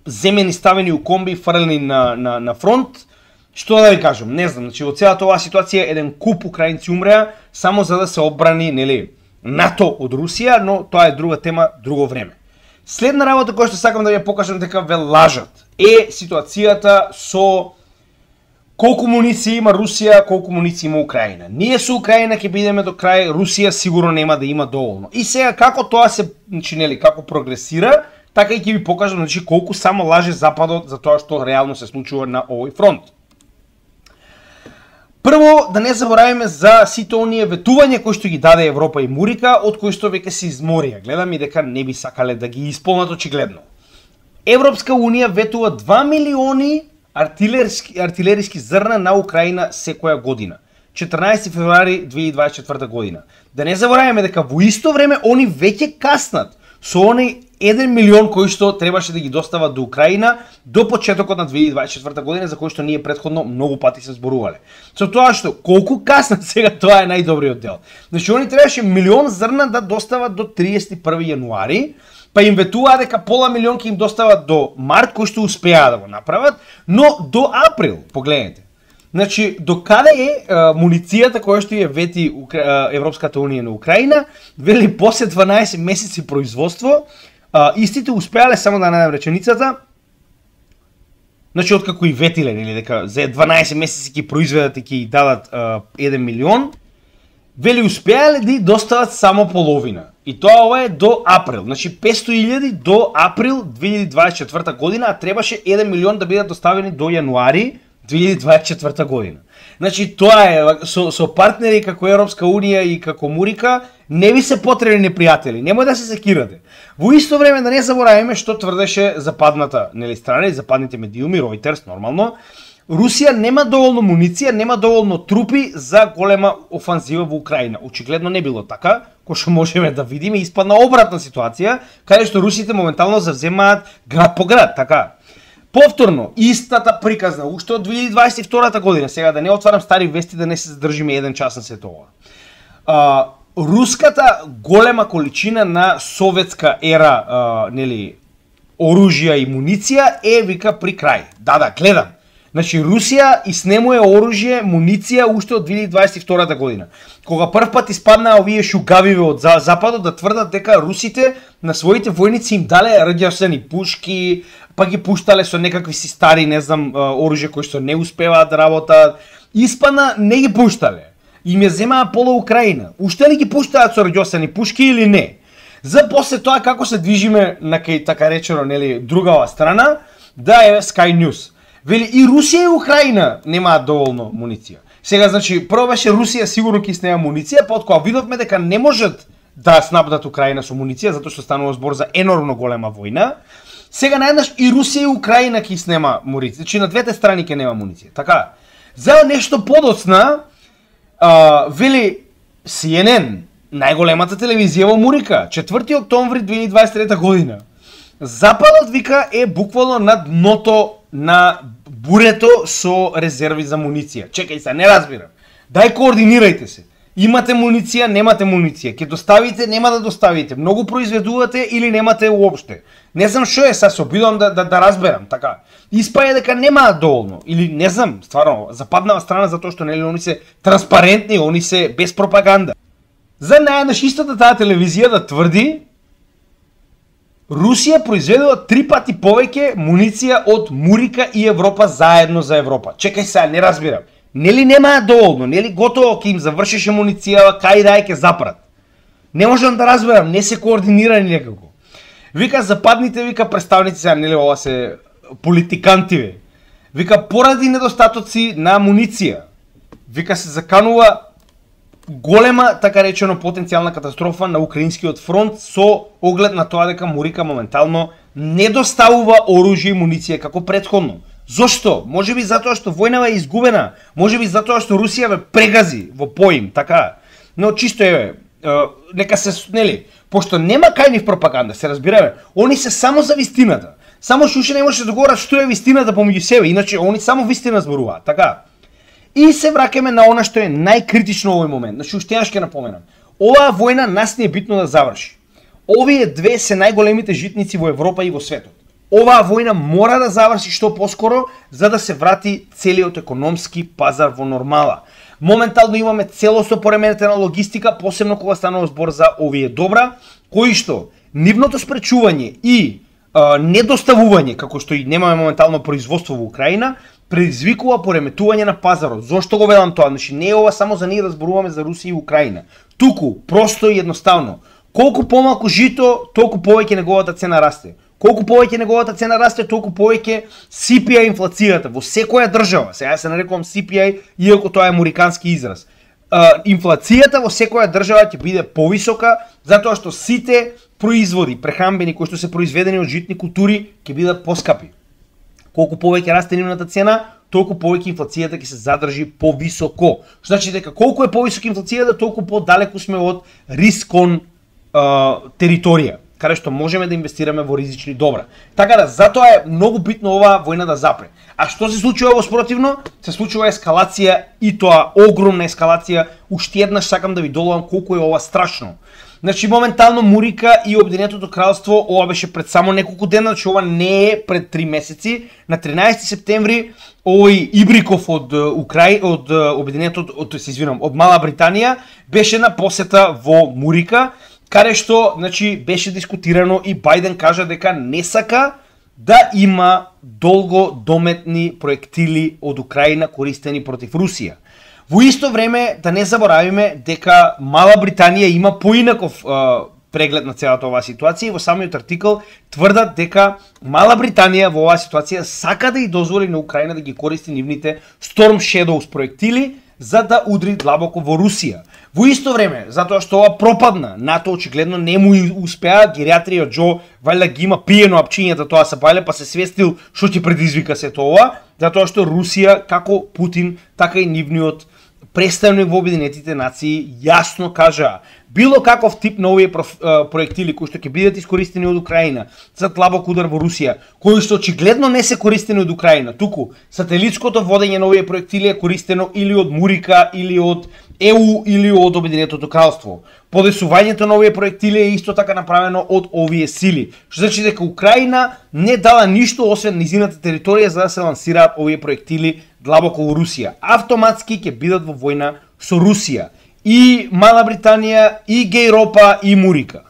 земени, ставени у комби, фрлени на, на, на фронт. Што да ви кажам, не знам, значи во целата оваа ситуација еден куп украинци умреа само за да се одбрани, нели, НАТО од Русија, но тоа е друга тема, друго време. Следна работа која што сакам да ви покажам дека ве лажат е ситуацијата со колку муниции има Русија, колку муниции има Украина. Ние со Украина ќе бидеме до крај, Русија сигурно нема да има доволно. И сега како тоа се, значи, нели, како прогресира, така и ќе ви покажам, значи, колку само лаже Западот за тоа што реално се случува на овој фронт. Прво, да не заборавиме за сите оние ветувања кои што ги даде Европа и Мурика, од кои што веќе се изморија. Гледам и дека не би сакале да ги исполнат очигледно. Европска Унија ветува два милиони артилерски, артилериски зрна на Украина секоја година. четрнаесети февруари две илјади дваесет и четврта година. Да не забораваме дека во исто време они веќе каснат со они еден милион кои што требаше да ги достава до Украина до почетокот на две илјади дваесет и четврта година, за кои што ние претходно многу пати се зборувале. Со тоа што колку касно сега тоа е најдобриот дел. Значи они требаше милион зрна да достават до триесет и први јануари, па им ветуваа дека пола милион ќе им достават до март, кои што успеа да го направат, но до април, погледнете. Значи, до каде е а, муницијата која што ја вети Укра... Европската унија на Украина, вели после дванаесет месеци производство, а, истите успеале, само да најдам реченицата, значи, откако и ветиле, нели, дека за дванаесет месеци ќе произведат и ќе дадат а, еден милион, вели успеале да достават само половина. И тоа ова е до април. Значи петстотини илјади до април две илјади дваесет и четврта година, а требаше еден милион да бидат доставени до јануари две илјади дваесет и четврта година. Значи тоа е со, со партнери како Европска унија и како Мурика не ви се потребни непријатели. Немој да се секирате. Во исто време да не забораваме што тврдеше западната, нели, страна и западните медиуми, Reuters нормално, Русија нема доволно муниција, нема доволно трупи за голема офанзива во Украина. Очигледно не било така, кој што можеме да видиме, испадна обратна ситуација, каде што русите моментално завземаат град по град, така. Повторно, истата приказна, уште од две илјади дваесет и втора година, сега да не отварам стари вести, да не се задржиме еден час на сето ова. А, руската голема количина на советска ера, а, нели, оружја и муниција е, вика, при крај. Да, да, гледам. Значи, Русија иснемува оружје, муниција уште од две илјади дваесет и втора година. Кога прв пат испаднаа овие шугавиве од западот да тврдат дека русите на своите војници им дале радиосени пушки, па ги пуштале со некакви си стари, не знам, оружје кои што не успеваат да работат. Испадна не ги пуштале. Им ја земаа пола Украина. Уште ли ги пуштаат со радиосени пушки или не? За после тоа како се движиме на кај така речено, нели, другава страна, да е Sky News. Вели и Русија и Украина немаат доволно муниција. Сега, значи, прво беше Русија сигурно ќе снема муниција, па откога видовме дека не можат да снабдат Украина со муниција, затоа што станува збор за енормно голема војна, сега наеднаш и Русија и Украина ќе снема муниција. Значи, на двете страни ќе нема муниција. Така, за нешто подоцна, а, вели Си Ен Ен, најголемата телевизија во Мурика, четврти октомври две илјади дваесет и трета година. Западот, вика, е буквално на дното на бурето со резерви за муниција. Чекај се, не разбирам. Дај координирајте се. Имате муниција, немате муниција. Ке доставите, нема да доставите. Многу произведувате или немате уопште. Не знам што е, са се обидувам да, да, да разберам, така. Испаја дека немаат доволно. Или не знам, стварно, западнава страна затоа што нели они се транспарентни, они се без пропаганда. За наеднаш истата таа телевизија да тврди Русија произведува три пати повеќе муниција од Мурика и Европа заедно за Европа. Чекај сега, не разбирам. Нели немаат доволно, нели готово ќе им завршеше муницијава, кај да ќе запрат. Не можам да разберам, не се координирани некако. Вика западните, вика представници, сега нели ова се политикантиве. Вика поради недостатоци на муниција. Вика се заканува голема, така речено, потенцијална катастрофа на украинскиот фронт со оглед на тоа дека Мурика моментално не доставува оружје и муниција како претходно. Зошто? Може би затоа што војнава е изгубена, може би затоа што Русија ве прегази во поим, така. Но чисто еве, нека се, нели, пошто нема кај нив пропаганда, се разбираме, они се само за вистината. Само што уште не може да говорат што е вистината помеѓу себе, иначе они само вистина зборуваат, така. И се враќаме на она што е најкритично во овој момент. Значи, уште јас ќе напоменам. Оваа војна нас не е битно да заврши. Овие две се најголемите житници во Европа и во светот. Оваа војна мора да заврши што поскоро, за да се врати целиот економски пазар во нормала. Моментално имаме целосно поременетена логистика, посебно кога станува збор за овие добра, кои што нивното спречување и а, недоставување, како што и немаме моментално производство во Украина, предизвикува пореметување на пазарот. Зошто го велам тоа? Значи не е ова само за ние да зборуваме за Русија и Украина. Туку, просто и едноставно, колку помалку жито, толку повеќе неговата цена расте. Колку повеќе неговата цена расте, толку повеќе Си Пи Ај инфлацијата во секоја држава. Сега се нарекувам Си Пи Ај, иако тоа е американски израз. Uh, инфлацијата во секоја држава ќе биде повисока, затоа што сите производи прехранбени кои што се произведени од житни култури ќе бидат поскапи. Колку повеќе расте нивната цена, толку повеќе инфлацијата ќе се задржи повисоко. Што значи дека колку е повисока инфлацијата, толку подалеку сме од рискон uh, територија. каде што можеме да инвестираме во ризични добра. Така да, затоа е многу битно оваа војна да запре. А што се случува во спротивно? Се случува ескалација и тоа огромна ескалација. Уште еднаш сакам да ви доловам колку е ова страшно. Значи, моментално Мурика и Обединетото кралство, ова беше пред само неколку дена, значи ова не е пред три месеци. На тринаесети септември овој Ибриков од Украј, од Обединетото, од се извинам, од Мала Британија беше на посета во Мурика, каде што, значи, беше дискутирано и Бајден кажа дека не сака да има долгодометни проектили од Украина користени против Русија. Во исто време, да не заборавиме дека Мала Британија има поинаков е, преглед на целата оваа ситуација и во самиот артикл тврдат дека Мала Британија во оваа ситуација сака да и дозволи на Украина да ги користи нивните Storm Shadows проектили за да удри длабоко во Русија. Во исто време, затоа што ова пропадна, НАТО очигледно не му успеа, геријатриот Џо валјда ги има пиено апчињата тоа се пале, па се свестил што ќе предизвика сето ова, затоа што Русија, како Путин, така и нивниот представник во Обединетите нации јасно кажа било каков тип на овие проектили кои што ќе бидат искористени од Украина за длабок удар во Русија, кои што очигледно не се користени од Украина, туку сателитското водење на овие проектили е користено или од Мурика, или од Е У, или од Обединетото кралство. Подесувањето на овие проектили е исто така направено од овие сили, што значи дека Украина не дала ништо освен низината територија за да се лансираат овие проектили длабоко во Русија. Автоматски ќе бидат во војна со Русија. И Мала Британија, и Гејропа, и Мурика.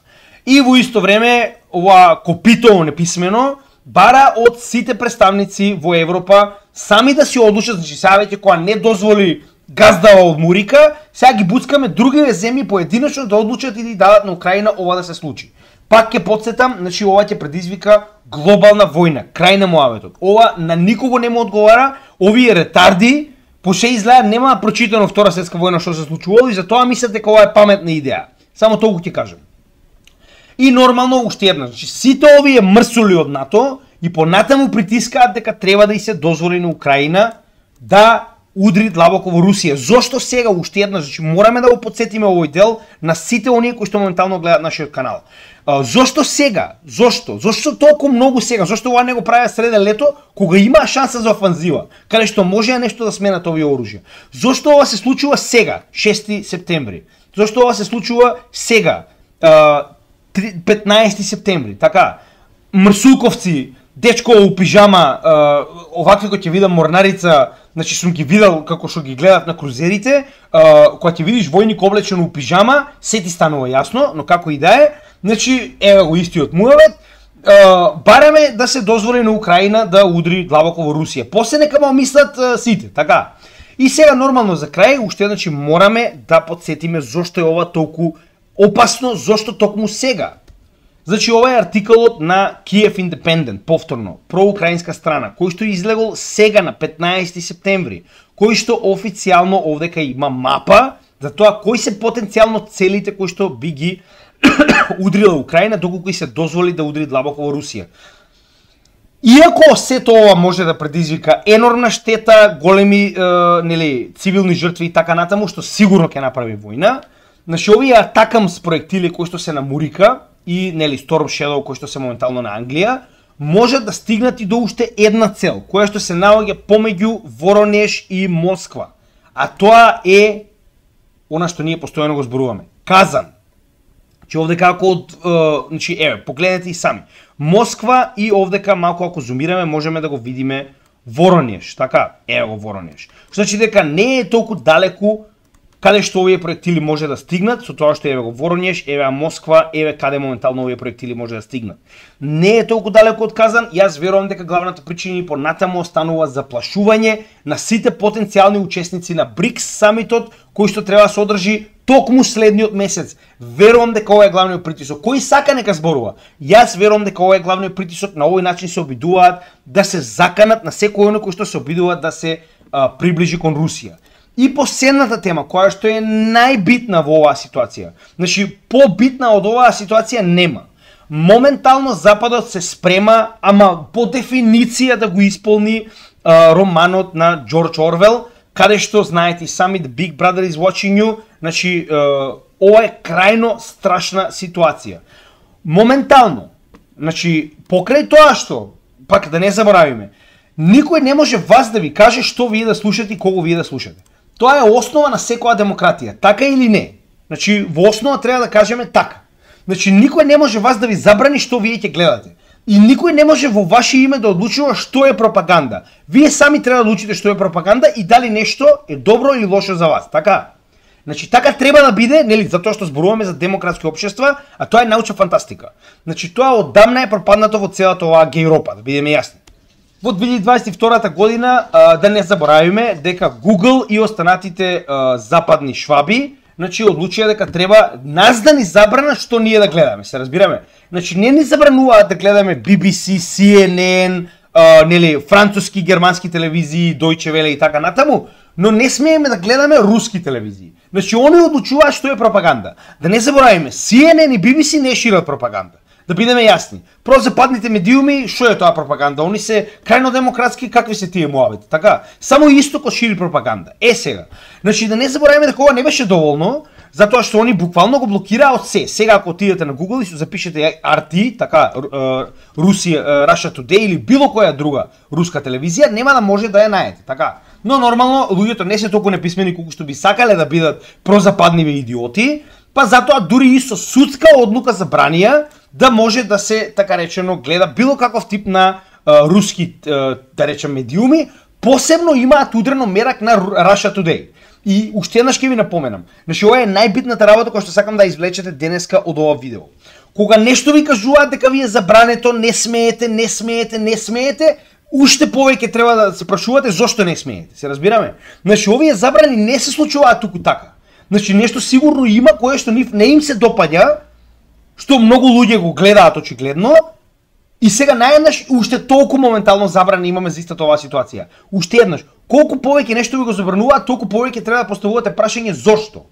И во исто време, ова копито неписмено, бара од сите представници во Европа сами да си одлучат, значи сега веќе која не дозволи газдава од Мурика, сега ги буцкаме другите земји поединечно да одлучат и да дадат на Украина ова да се случи. Пак ќе потсетам, значи ова ќе предизвика глобална војна, крај на муаветот. Ова на никого не му одговара, овие ретарди, поше изгледа нема прочитано Втора светска војна што се случувало и затоа мислат дека ова е паметна идеја. Само толку ќе кажам. И нормално уште една, значи сите овие мрсули од НАТО и понатаму притискаат дека треба да и се дозволи на Украина да удри длабоко во Русија. Зошто сега уште една, значи мораме да го потсетиме овој дел на сите оние кои што моментално гледаат нашиот канал. А, зошто сега? Зошто? Зошто толку многу сега? Зошто ова не го правеа среде лето, кога има шанса за офанзива, каде што може нешто да сменат овие оружја? Зошто ова се случува сега, шести септември? Зошто ова се случува сега, петнаесети септември? Така, мрсулковци, дечко у пижама, овакви кои ќе видам морнарица, значи сум ги видел како што ги гледат на крузерите, кога ќе видиш војник облечен у пижама, се ти станува јасно, но како и да е, значи еве го истиот муавет, бараме да се дозволи на Украина да удри длабоко во Русија. После нека ма мислат сите, така. И сега нормално за крај, уште значи мораме да потсетиме зошто е ова толку опасно, зошто токму сега. Значи ова е артиколот на Kyiv Independent, повторно, проукраинска страна, кој што излегол сега на петнаесети септември, кој што официјално овдека има мапа за тоа кои се потенцијално целите кои што би ги удрила Украина доколку и се дозволи да удри длабоко во Русија. Иако сето ова може да предизвика енормна штета, големи е, нели, цивилни жртви и така натаму, што сигурно ќе направи војна, значи овие атакамс проектили кои што се на Мурика и нели Storm Shadow кои што се моментално на Англија, може да стигнат и до уште една цел, која што се наоѓа помеѓу Воронеж и Москва. А тоа е она што ние постојано го зборуваме. Казан. Че овдека ако од, е, значи еве, погледнете и сами. Москва и овдека малку ако зумираме можеме да го видиме Воронеж, така? Ево го Воронеж. Значи дека не е толку далеку каде што овие проектили може да стигнат, со тоа што еве го Воронеж, еве Москва, еве каде моментално овие проектили може да стигнат. Не е толку далеку од Казан, јас верувам дека главната причина понатаму останува заплашување на сите потенцијални учесници на БРИКС самитот, кој што треба да се одржи токму следниот месец. Верувам дека ова е главниот притисок. Кој сака нека зборува? Јас верувам дека ова е главниот притисок, на овој начин се обидуваат да се заканат на секој оној кој што се обидуваат да се а, приближи кон Русија. И последната тема, која што е најбитна во оваа ситуација. Значи, побитна од оваа ситуација нема. Моментално Западот се спрема, ама по дефиниција да го исполни а, романот на Џорџ Орвел, каде што, знаете сами, The Big Brother is watching you, значи, а, ова е крајно страшна ситуација. моментално. Значи, покрај тоа што, пак да не заборавиме, никој не може вас да ви каже што вие да слушате и кого вие да слушате. Тоа е основа на секоја демократија, така или не. Значи, во основа треба да кажеме така. Значи, никој не може вас да ви забрани што вие ќе гледате. И никој не може во ваше име да одлучува што е пропаганда. Вие сами треба да одлучите што е пропаганда и дали нешто е добро или лошо за вас, така? Значи, така треба да биде, нели, затоа што зборуваме за демократски општества, а тоа е научна фантастика. Значи, тоа оддамна е пропаднато во целата оваа гејропа, да бидеме јасни. Во две илјади дваесет и втора година, а, да не заборавиме дека Google и останатите а, западни шваби, значи, одлучија дека треба нас да ни забрана што ние да гледаме, се разбираме? Значи, не ни забрануваат да гледаме Би Би Си, Си Ен Ен, а, нели, француски, германски телевизии, Deutsche Welle и така натаму, но не смееме да гледаме руски телевизии. Значи, они одлучуваат што е пропаганда. Да не заборавиме, Си Ен Ен и Би Би Си не шират пропаганда. Да бидеме јасни. Прозападните медиуми, што е тоа пропаганда? Они се крајно демократски, какви се тие муабети, така? Само Истокот шири пропаганда. Е сега. Значи, да не заборавиме дека ова не беше доволно, затоа што они буквално го блокираа од се. Сега ако отидете на Google и се запишете Ар Ти, така, Русија, Russia Today или било која друга руска телевизија, нема да може да ја најдете, така? Но нормално луѓето не се толку неписмени колку што би сакале да бидат прозападниви идиоти, па затоа дури и со судска одлука забранија да може да се, така речено, гледа било каков тип на а, руски, а, да речем, медиуми, посебно имаат удрено мерак на Russia Today. И уште еднаш ќе ви напоменам. Значи, ова е најбитната работа која што сакам да извлечете денеска од ова видео. Кога нешто ви кажуваат дека ви е забрането, не смеете, не смеете, не смеете, уште повеќе треба да се прашувате зошто не смеете. Се разбираме? Значи, овие забрани не се случуваат туку така. Значи, нешто сигурно има кое што не им се допаѓа, што многу луѓе го гледаат очигледно, и сега наједнаш уште толку моментално забрани имаме за истата оваа ситуација. Уште еднаш, колку повеќе нешто ви го забрануваат, толку повеќе треба да поставувате прашање зошто.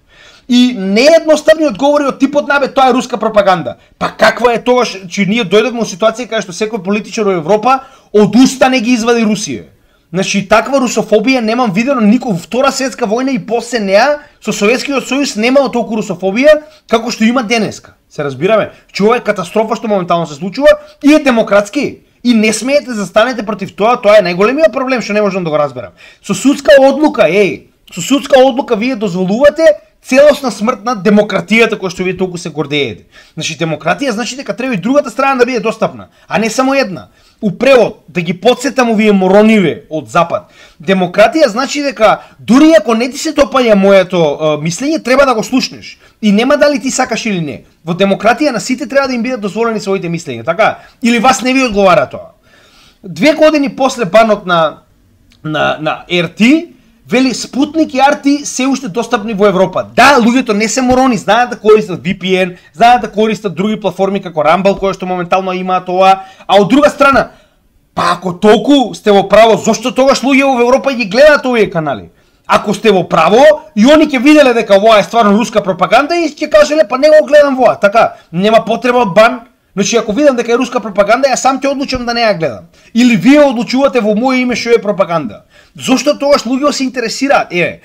И неедноставни одговори од типот на бе тоа е руска пропаганда. Па каква е тоа, че ние дојдовме во ситуација каде што секој политичар во Европа од уста не ги извади Русија. Значи, таква русофобија немам видено никој. Втора светска војна и после неа со Советскиот сојуз немало толку русофобија како што има денеска. Се разбираме? Че ова е катастрофа што моментално се случува и е демократски. И не смеете да застанете против тоа, тоа е најголемиот проблем што не можам да го разберам. Со судска одлука, еј, со судска одлука вие дозволувате целосна смрт на демократијата која што вие толку се гордеете. Значи, демократија значи дека треба и другата страна да биде достапна, а не само една. У превод, да ги подсетам овие морониве од Запад. Демократија значи дека дури ако не ти се допаѓа моето е, мислење, треба да го слушнеш. И нема дали ти сакаш или не. Во демократија на сите треба да им бидат дозволени своите мислења, така? Или вас не ви одговара тоа. Две години после банот на на на Ар Ти, вели Спутник и Ар Ти се уште достапни во Европа. Да, луѓето не се морони, знаат да користат Ви Пи Ен, знаат да користат други платформи како Rumble, кои што моментално имаат ова, а од друга страна, па ако толку сте во право, зошто тогаш луѓе во Европа ги гледаат овие канали? Ако сте во право, и они ќе виделе дека ова е стварно руска пропаганда и ќе кажеле, па не го гледам воа, така, нема потреба од бан. Значи, ако видам дека е руска пропаганда, ја сам ќе одлучам да не ја гледам. Или вие одлучувате во моје име што е пропаганда. Зошто тогаш луѓе се интересираат? Еве,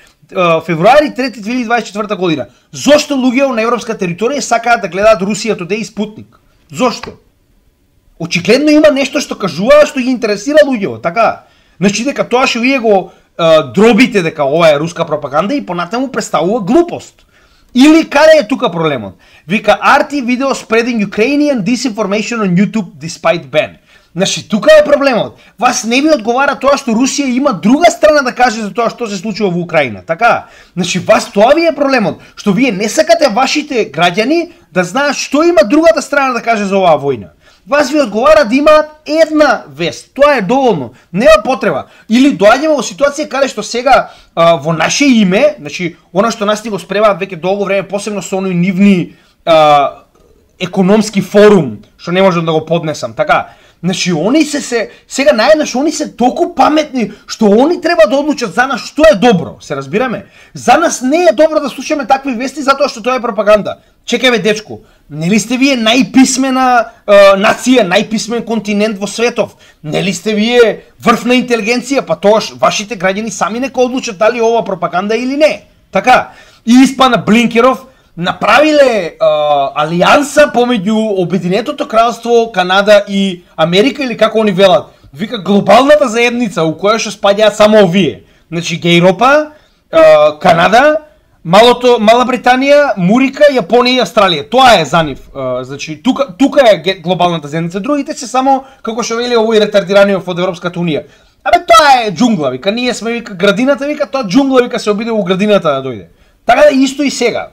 февруари трети две илјади дваесет и четврта година. Зошто луѓе на европска територија сакаат да гледаат Русија Today и Спутник? Зошто? Очигледно има нешто што кажува што ги интересира луѓето, така? Значи дека тоа што вие го е, дробите дека ова е руска пропаганда и понатаму представува глупост. Или каде е тука проблемот? Вика Ар Ти video spreading Ukrainian disinformation on YouTube despite ban. Значи, тука е проблемот. Вас не ви одговара тоа што Русија има друга страна да каже за тоа што се случува во Украина, така? Значи, вас тоа ви е проблемот, што вие не сакате вашите граѓани да знаат што има другата страна да каже за оваа војна. Вас ви одговара да имаат една вест. Тоа е доволно. Нема потреба. Или доаѓаме во ситуација каде што сега а, во наше име, значи, она што нас ни го спремаат веќе долго време, посебно со оној нивни а, економски форум, што не можам да го поднесам, така? Значи, они се се, сега наеднаш, они се толку паметни, што они треба да одлучат за нас што е добро, се разбираме? За нас не е добро да слушаме такви вести, затоа што тоа е пропаганда. Чекај бе, дечко, нели сте вие најписмена е, нација, најписмен континент во светов? Нели сте вие врвна интелигенција, па тоаш вашите граѓани сами нека одлучат дали ова пропаганда или не? Така, и испана Блинкеров, направиле а, алијанса помеѓу Обединетото кралство, Канада и Америка, или како они велат, вика глобалната заедница у која што спаѓаат само овие. Значи Европа, а, Канада, малото Мала Британија, Мурика, Јапонија и Австралија. Тоа е за нив. А, значи тука тука е глобалната заедница, другите се само како што вели овој ретардираниот од Европската унија. Абе тоа е џунгла, вика, ние сме вика градината, вика, тоа џунгла, вика, се обиде у градината да дојде. Така да исто и сега.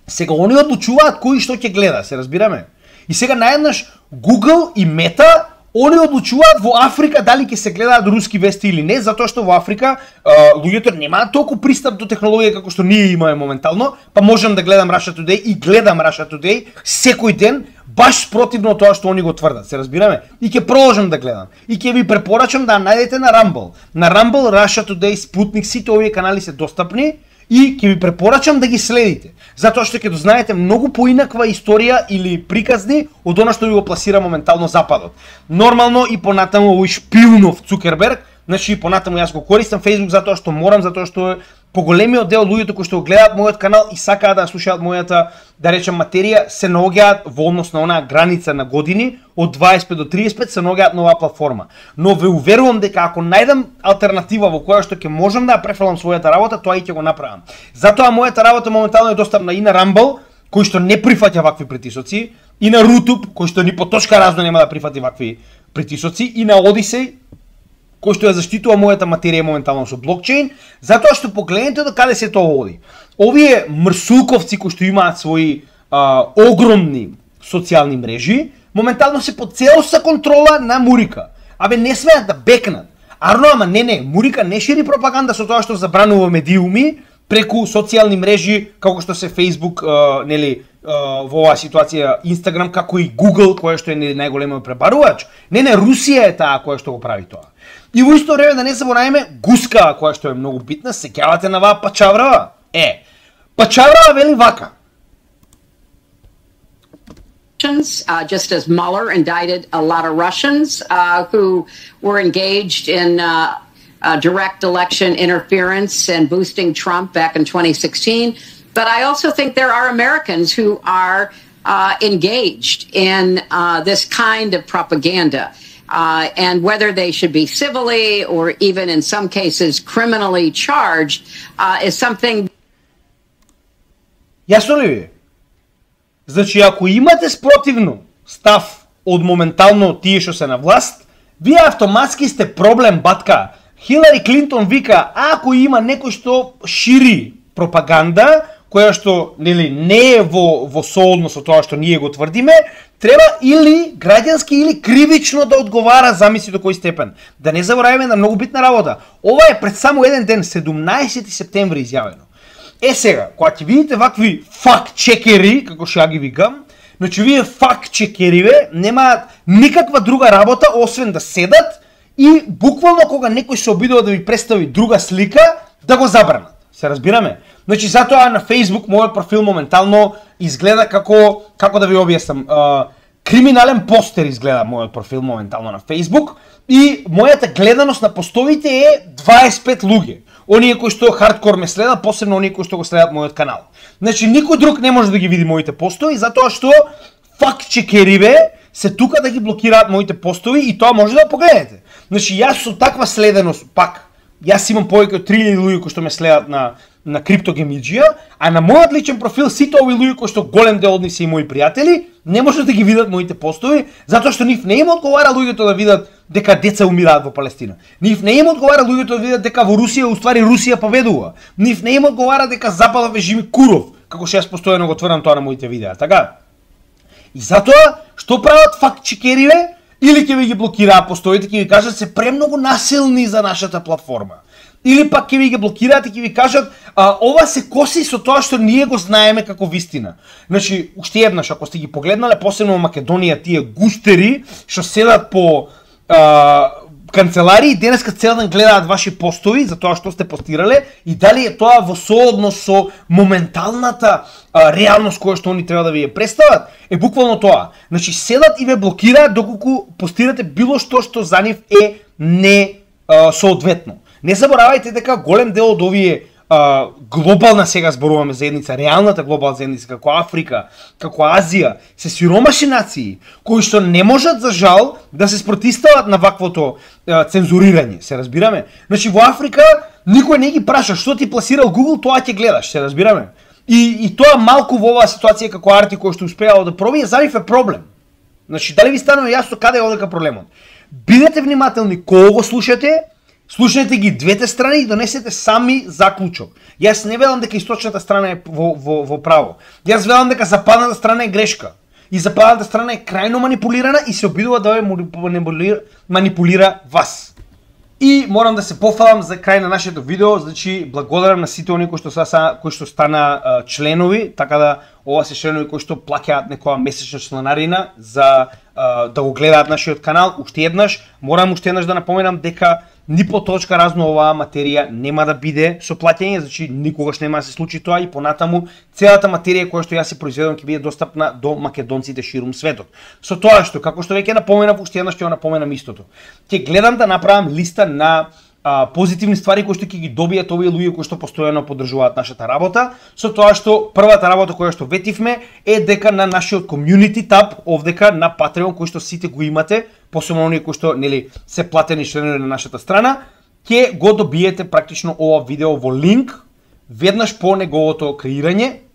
Сега они одлучуваат кој што ќе гледа, се разбираме. И сега наеднаш Google и Meta, они одлучуваат во Африка дали ќе се гледаат руски вести или не, затоа што во Африка а, луѓето немаат толку пристап до технологија како што ние имаме моментално, па можам да гледам Russia Today и гледам Russia Today секој ден, баш спротивно тоа што они го тврдат, се разбираме. И ќе продолжам да гледам. И ќе ви препорачам да најдете на Rumble. На Rumble, Russia Today, Sputnik, сите овие канали се достапни. И ќе ви препорачам да ги следите, затоа што ќе дознаете многу поинаква историја или приказни од она што ви го пласира моментално Западот. Нормално и понатаму овој шпилнов Цукерберг, значи и понатаму јас го користам Facebook затоа што морам, затоа што поголемиот дел од луѓето кои што го гледаат мојот канал и сакаат да слушаат мојата, да речем, материја, се наоѓаат во однос на онаа граница на години од дваесет и пет до триесет и пет, се наоѓаат на оваа платформа. Но ве уверувам дека ако најдам алтернатива во која што ќе можам да ја префрлам својата работа, тоа и ќе го направам. Затоа мојата работа моментално е достапна и на Rumble, кој што не прифаќа вакви притисоци, и на Rutube, кој што ни по точка разно нема да прифати вакви притисоци, и на Odyssey, кој што ја заштитува мојата материја моментално со блокчейн, затоа што погледнете до каде се тоа оди. Овие мрсулковци кои што имаат своји а, огромни социјални мрежи, моментално се под целоста контрола на Мурика. Абе не смеат да бекнат. Арно, ама не не, Мурика не шири пропаганда со тоа што забранува медиуми преку социјални мрежи како што се Facebook, а, нели, а, во оваа ситуација Instagram, како и Google, која што е најголемиот пребарувач. Не не, Русија е таа која што го прави тоа. И во исто време да не забораваме Гуска, која што е многу битна, сеќавате на ваа Пачаврава? Е, Пачаврава вели вака. Uh, just as Mueller indicted a lot of Russians uh, who were engaged in uh, uh, direct election interference and boosting Trump back in twenty sixteen. But I also think there are Americans who are uh, engaged in uh, this kind of propaganda. Uh, and whether they should be civilly or even in some cases criminally charged uh, is something. Јасно ли ви? Значи, ако имате спротивно став од моментално тие што се на власт, вие автоматски сте проблем, батка. Хилари Клинтон вика, ако има некој што шири пропаганда, која што нели не е во во соодно со тоа што ние го тврдиме, треба или граѓански или кривично да одговара, замисли до кој степен. Да не забораваме на многу битна работа. Ова е пред само еден ден, седумнаесети септември изјавено. Е сега, кога ќе видите вакви факт-чекери, како што ја ги викам, значи вие факт-чекериве немаат никаква друга работа освен да седат и буквално кога некој се обидува да ви представи друга слика, да го забранат. Се разбираме? Значи затоа на Facebook мојот профил моментално изгледа како како да ви објаснам, а, криминален постер изгледа мојот профил моментално на Facebook и мојата гледаност на постовите е дваесет и пет луѓе. Оние кои што хардкор ме следат, посебно оние кои што го следат мојот канал. Значи никој друг не може да ги види моите постови затоа што факт-чекериве се тука да ги блокираат моите постови и тоа може да погледнете. Значи јас со таква следеност пак јас имам повеќе од три илјади луѓе кои што ме следат на на криптогемиджија, а на мојот личен профил сите овие луѓе кои што голем дел од нив се и мои пријатели, не можат да ги видат моите постови, затоа што нив не им одговара луѓето да видат дека деца умираат во Палестина. Нив не им одговара луѓето да видат дека во Русија уствари Русија победува. Нив не им одговара дека Западот режим Куров, како што јас постојано го тврдам тоа на моите видеа, така? И затоа што прават факт-чекериве? Или ќе ви ги блокираат постовите, ќе ви кажат се премногу насилни за нашата платформа. Или пак ќе ви ги блокираат и ќе ви кажат а, ова се коси со тоа што ние го знаеме како вистина. Значи, уште еднаш, ако сте ги погледнале, посебно во Македонија, тие густери што седат по а, канцеларии, денеска цел ден гледаат ваши постови за тоа што сте постирале и дали е тоа во соодност со моменталната а, реалност која што они треба да ви ја представат, е буквално тоа. Значи, седат и ве блокираат доколку постирате било што што за нив е не а, соодветно. Не заборавајте дека голем дел од овие а, глобална сега зборуваме заедница, реалната глобална заедница, како Африка, како Азија, се сиромашни нации, кои што не можат за жал да се спротистават на ваквото а, цензурирање, се разбираме? Значи во Африка никој не ги праша што ти пласирал Google, тоа ќе гледаш, се разбираме? И, и тоа малку во оваа ситуација како Арти кој што успеал да пробие, за нив е проблем. Значи, дали ви станува јасно каде е одека проблемот? Бидете внимателни кога го слушате, слушнете ги двете страни и донесете сами заклучок. Јас не велам дека источната страна е во, во, во право. Јас велам дека западната страна е грешка. И западната страна е крајно манипулирана и се обидува да ја манипулира, манипулира вас. И морам да се пофалам за крај на нашето видео, значи благодарам на сите оние кои што са кои што стана а, членови, така да ова се членови кои што плаќаат некоја месечна членарина за а, да го гледаат нашиот канал. Уште еднаш, морам уште еднаш да напоменам дека ни по точка разно оваа материја нема да биде со плаќање, значи никогаш нема да се случи тоа и понатаму целата материја која што јас се произведувам ќе биде достапна до македонците ширум светот. Со тоа што, како што веќе напоменав, уште еднаш ќе го напоменам истото. Ќе гледам да направам листа на а, позитивни ствари кои што ќе ги добијат овие луѓе кои што постојано поддржуваат нашата работа, со тоа што првата работа која што ветивме е дека на нашиот community tab овдека на Patreon, кој што сите го имате, посебно оние кои што нели се платени членови на нашата страна, ќе го добиете практично ова видео во линк веднаш по неговото креирање.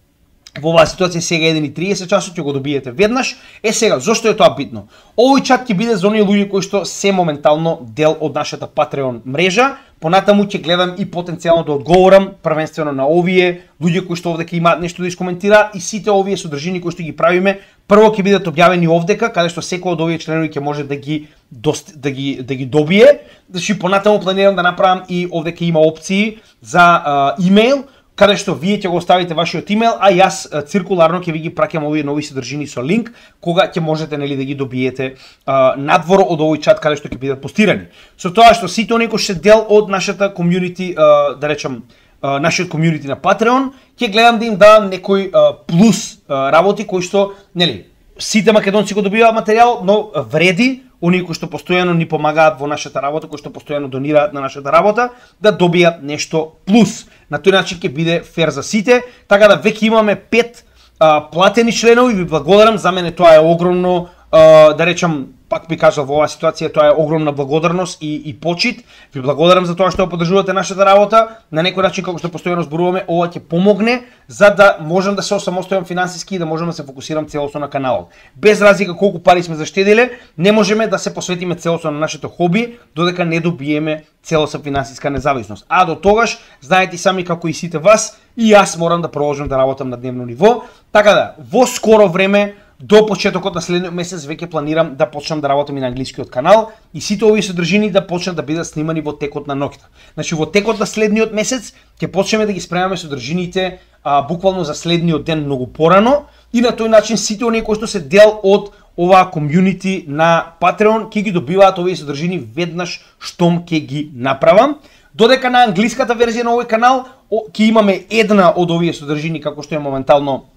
Во оваа ситуација сега еден и триесет часот ќе го добиете веднаш. Е сега, зошто е тоа битно? Овој чат ќе биде за оние луѓе кои што се моментално дел од нашата Patreon мрежа. Понатаму ќе гледам и потенцијално да одговорам првенствено на овие луѓе кои што овдека имаат нешто да искоментираат и сите овие содржини кои што ги правиме, прво ќе бидат објавени овдека, каде што секој од овие членови ќе може да ги дост, да ги да ги добие. Значи понатаму планирам да направам и овдека има опции за а, имејл, каде што вие ќе го оставите вашиот имејл, а јас циркуларно ќе ви ги праќам овие нови содржини со линк, кога ќе можете нели да ги добиете а, надвор од овој чат каде што ќе бидат постирани. Со тоа што сите оние кои што се дел од нашата комјунити, а, да речам, а, нашиот комјунити на Patreon, ќе гледам да им дадам некој а, плюс а, работи кои што, нели, сите македонци го добиваат материјал, но вреди оние кои што постојано ни помагаат во нашата работа, кои што постојано донираат на нашата работа, да добијат нешто плюс. На тој начин ќе биде фер за сите, така да веќе имаме пет а, платени членови, ви благодарам, за мене тоа е огромно, а, да речам, пак би кажал во оваа ситуација, тоа е огромна благодарност и, и почит. Ви благодарам за тоа што поддржувате нашата работа. На некој начин, како што постојано зборуваме, ова ќе помогне за да можам да се осамостојам финансиски и да можам да се фокусирам целосно на каналот. Без разлика колку пари сме заштедиле, не можеме да се посветиме целосно на нашето хоби, додека не добиеме целосна финансиска независност. А до тогаш, знаете сами како и сите вас, и јас морам да продолжам да работам на дневно ниво. Така да, во скоро време, до почетокот на следниот месец веќе планирам да почнам да работам и на англискиот канал и сите овие содржини да почнат да бидат снимани во текот на ноќта. Значи во текот на следниот месец ќе почнеме да ги спремаме содржините а, буквално за следниот ден многу порано и на тој начин сите оние кои што се дел од оваа комјунити на Patreon ќе ги добиваат овие содржини веднаш штом ќе ги направам. Додека на англиската верзија на овој канал ќе имаме една од овие содржини како што е моментално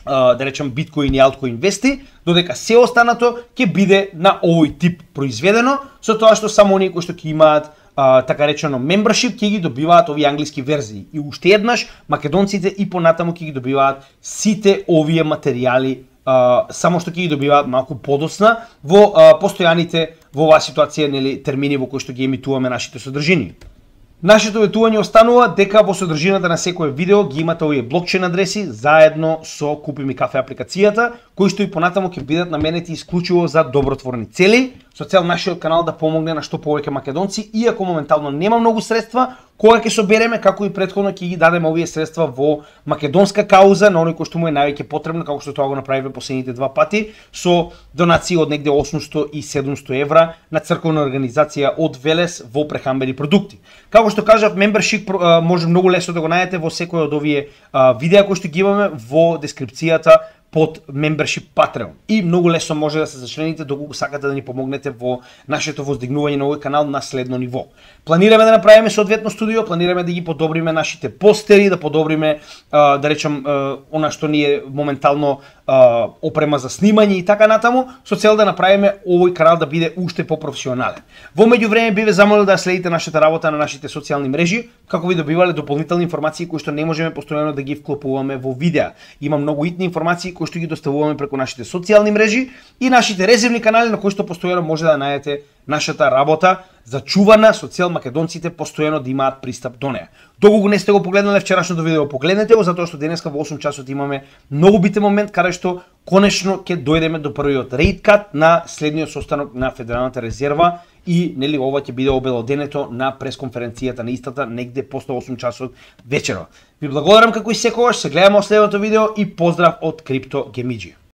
да речем Bitcoin и Altcoin вести, додека се останато ќе биде на овој тип произведено, со тоа што само оние кои што ќе имаат а, така речено membership ќе ги добиваат овие англиски верзии. И уште еднаш македонците и понатаму ќе ги добиваат сите овие материјали, а, само што ќе ги добиваат малку подоцна во а, постојаните во оваа ситуација, нели, термини во кои што ги емитуваме нашите содржини. Нашето ветување останува дека во содржината на секое видео ги имате овие блокчейн адреси заедно со Купи ми кафе апликацијата, кои што и понатаму ќе бидат наменети исклучиво за добротворни цели, со цел нашиот канал да помогне на што повеќе македонци, иако моментално нема многу средства, кога ќе собереме, како и претходно ќе ги дадеме овие средства во македонска кауза, на оној кој што му е највеќе потребно, како што тоа го направиве последните два пати, со донации од негде осумсто и седумсто евра на црковна организација од Велес во прехранбени продукти. Како што кажав, membership може многу лесно да го најдете во секој од овие видеа кои што ги имаме во дескрипцијата под membership Patreon. И многу лесно може да се зачлените доколку сакате да ни помогнете во нашето воздигнување на овој канал на следно ниво. Планираме да направиме соодветно студио, планираме да ги подобриме нашите постери, да подобриме, а, да речем, а, она што ни е моментално а, опрема за снимање и така натаму, со цел да направиме овој канал да биде уште попрофесионален. Во меѓувреме би ве замолил да следите нашата работа на нашите социјални мрежи, како би добивале дополнителни информации кои што не можеме постојано да ги вклопуваме во видеа. Има многу итни информации кои што ги доставуваме преку нашите социјални мрежи и нашите резервни канали на кои што постојано може да најдете нашата работа зачувана со цел македонците постојано да имаат пристап до неа. Доколку не сте го погледнале вчерашното видео, погледнете го затоа што денеска во осум часот имаме многу битен момент каде што конечно ќе дојдеме до првиот рейд кат на следниот состанок на Федералната резерва и нели ова ќе биде обелоденето на пресконференцијата на истата негде после осум часот вечерва. Ви благодарам како и секогаш, се гледаме во следното видео и поздрав од Крипто Гемиџи.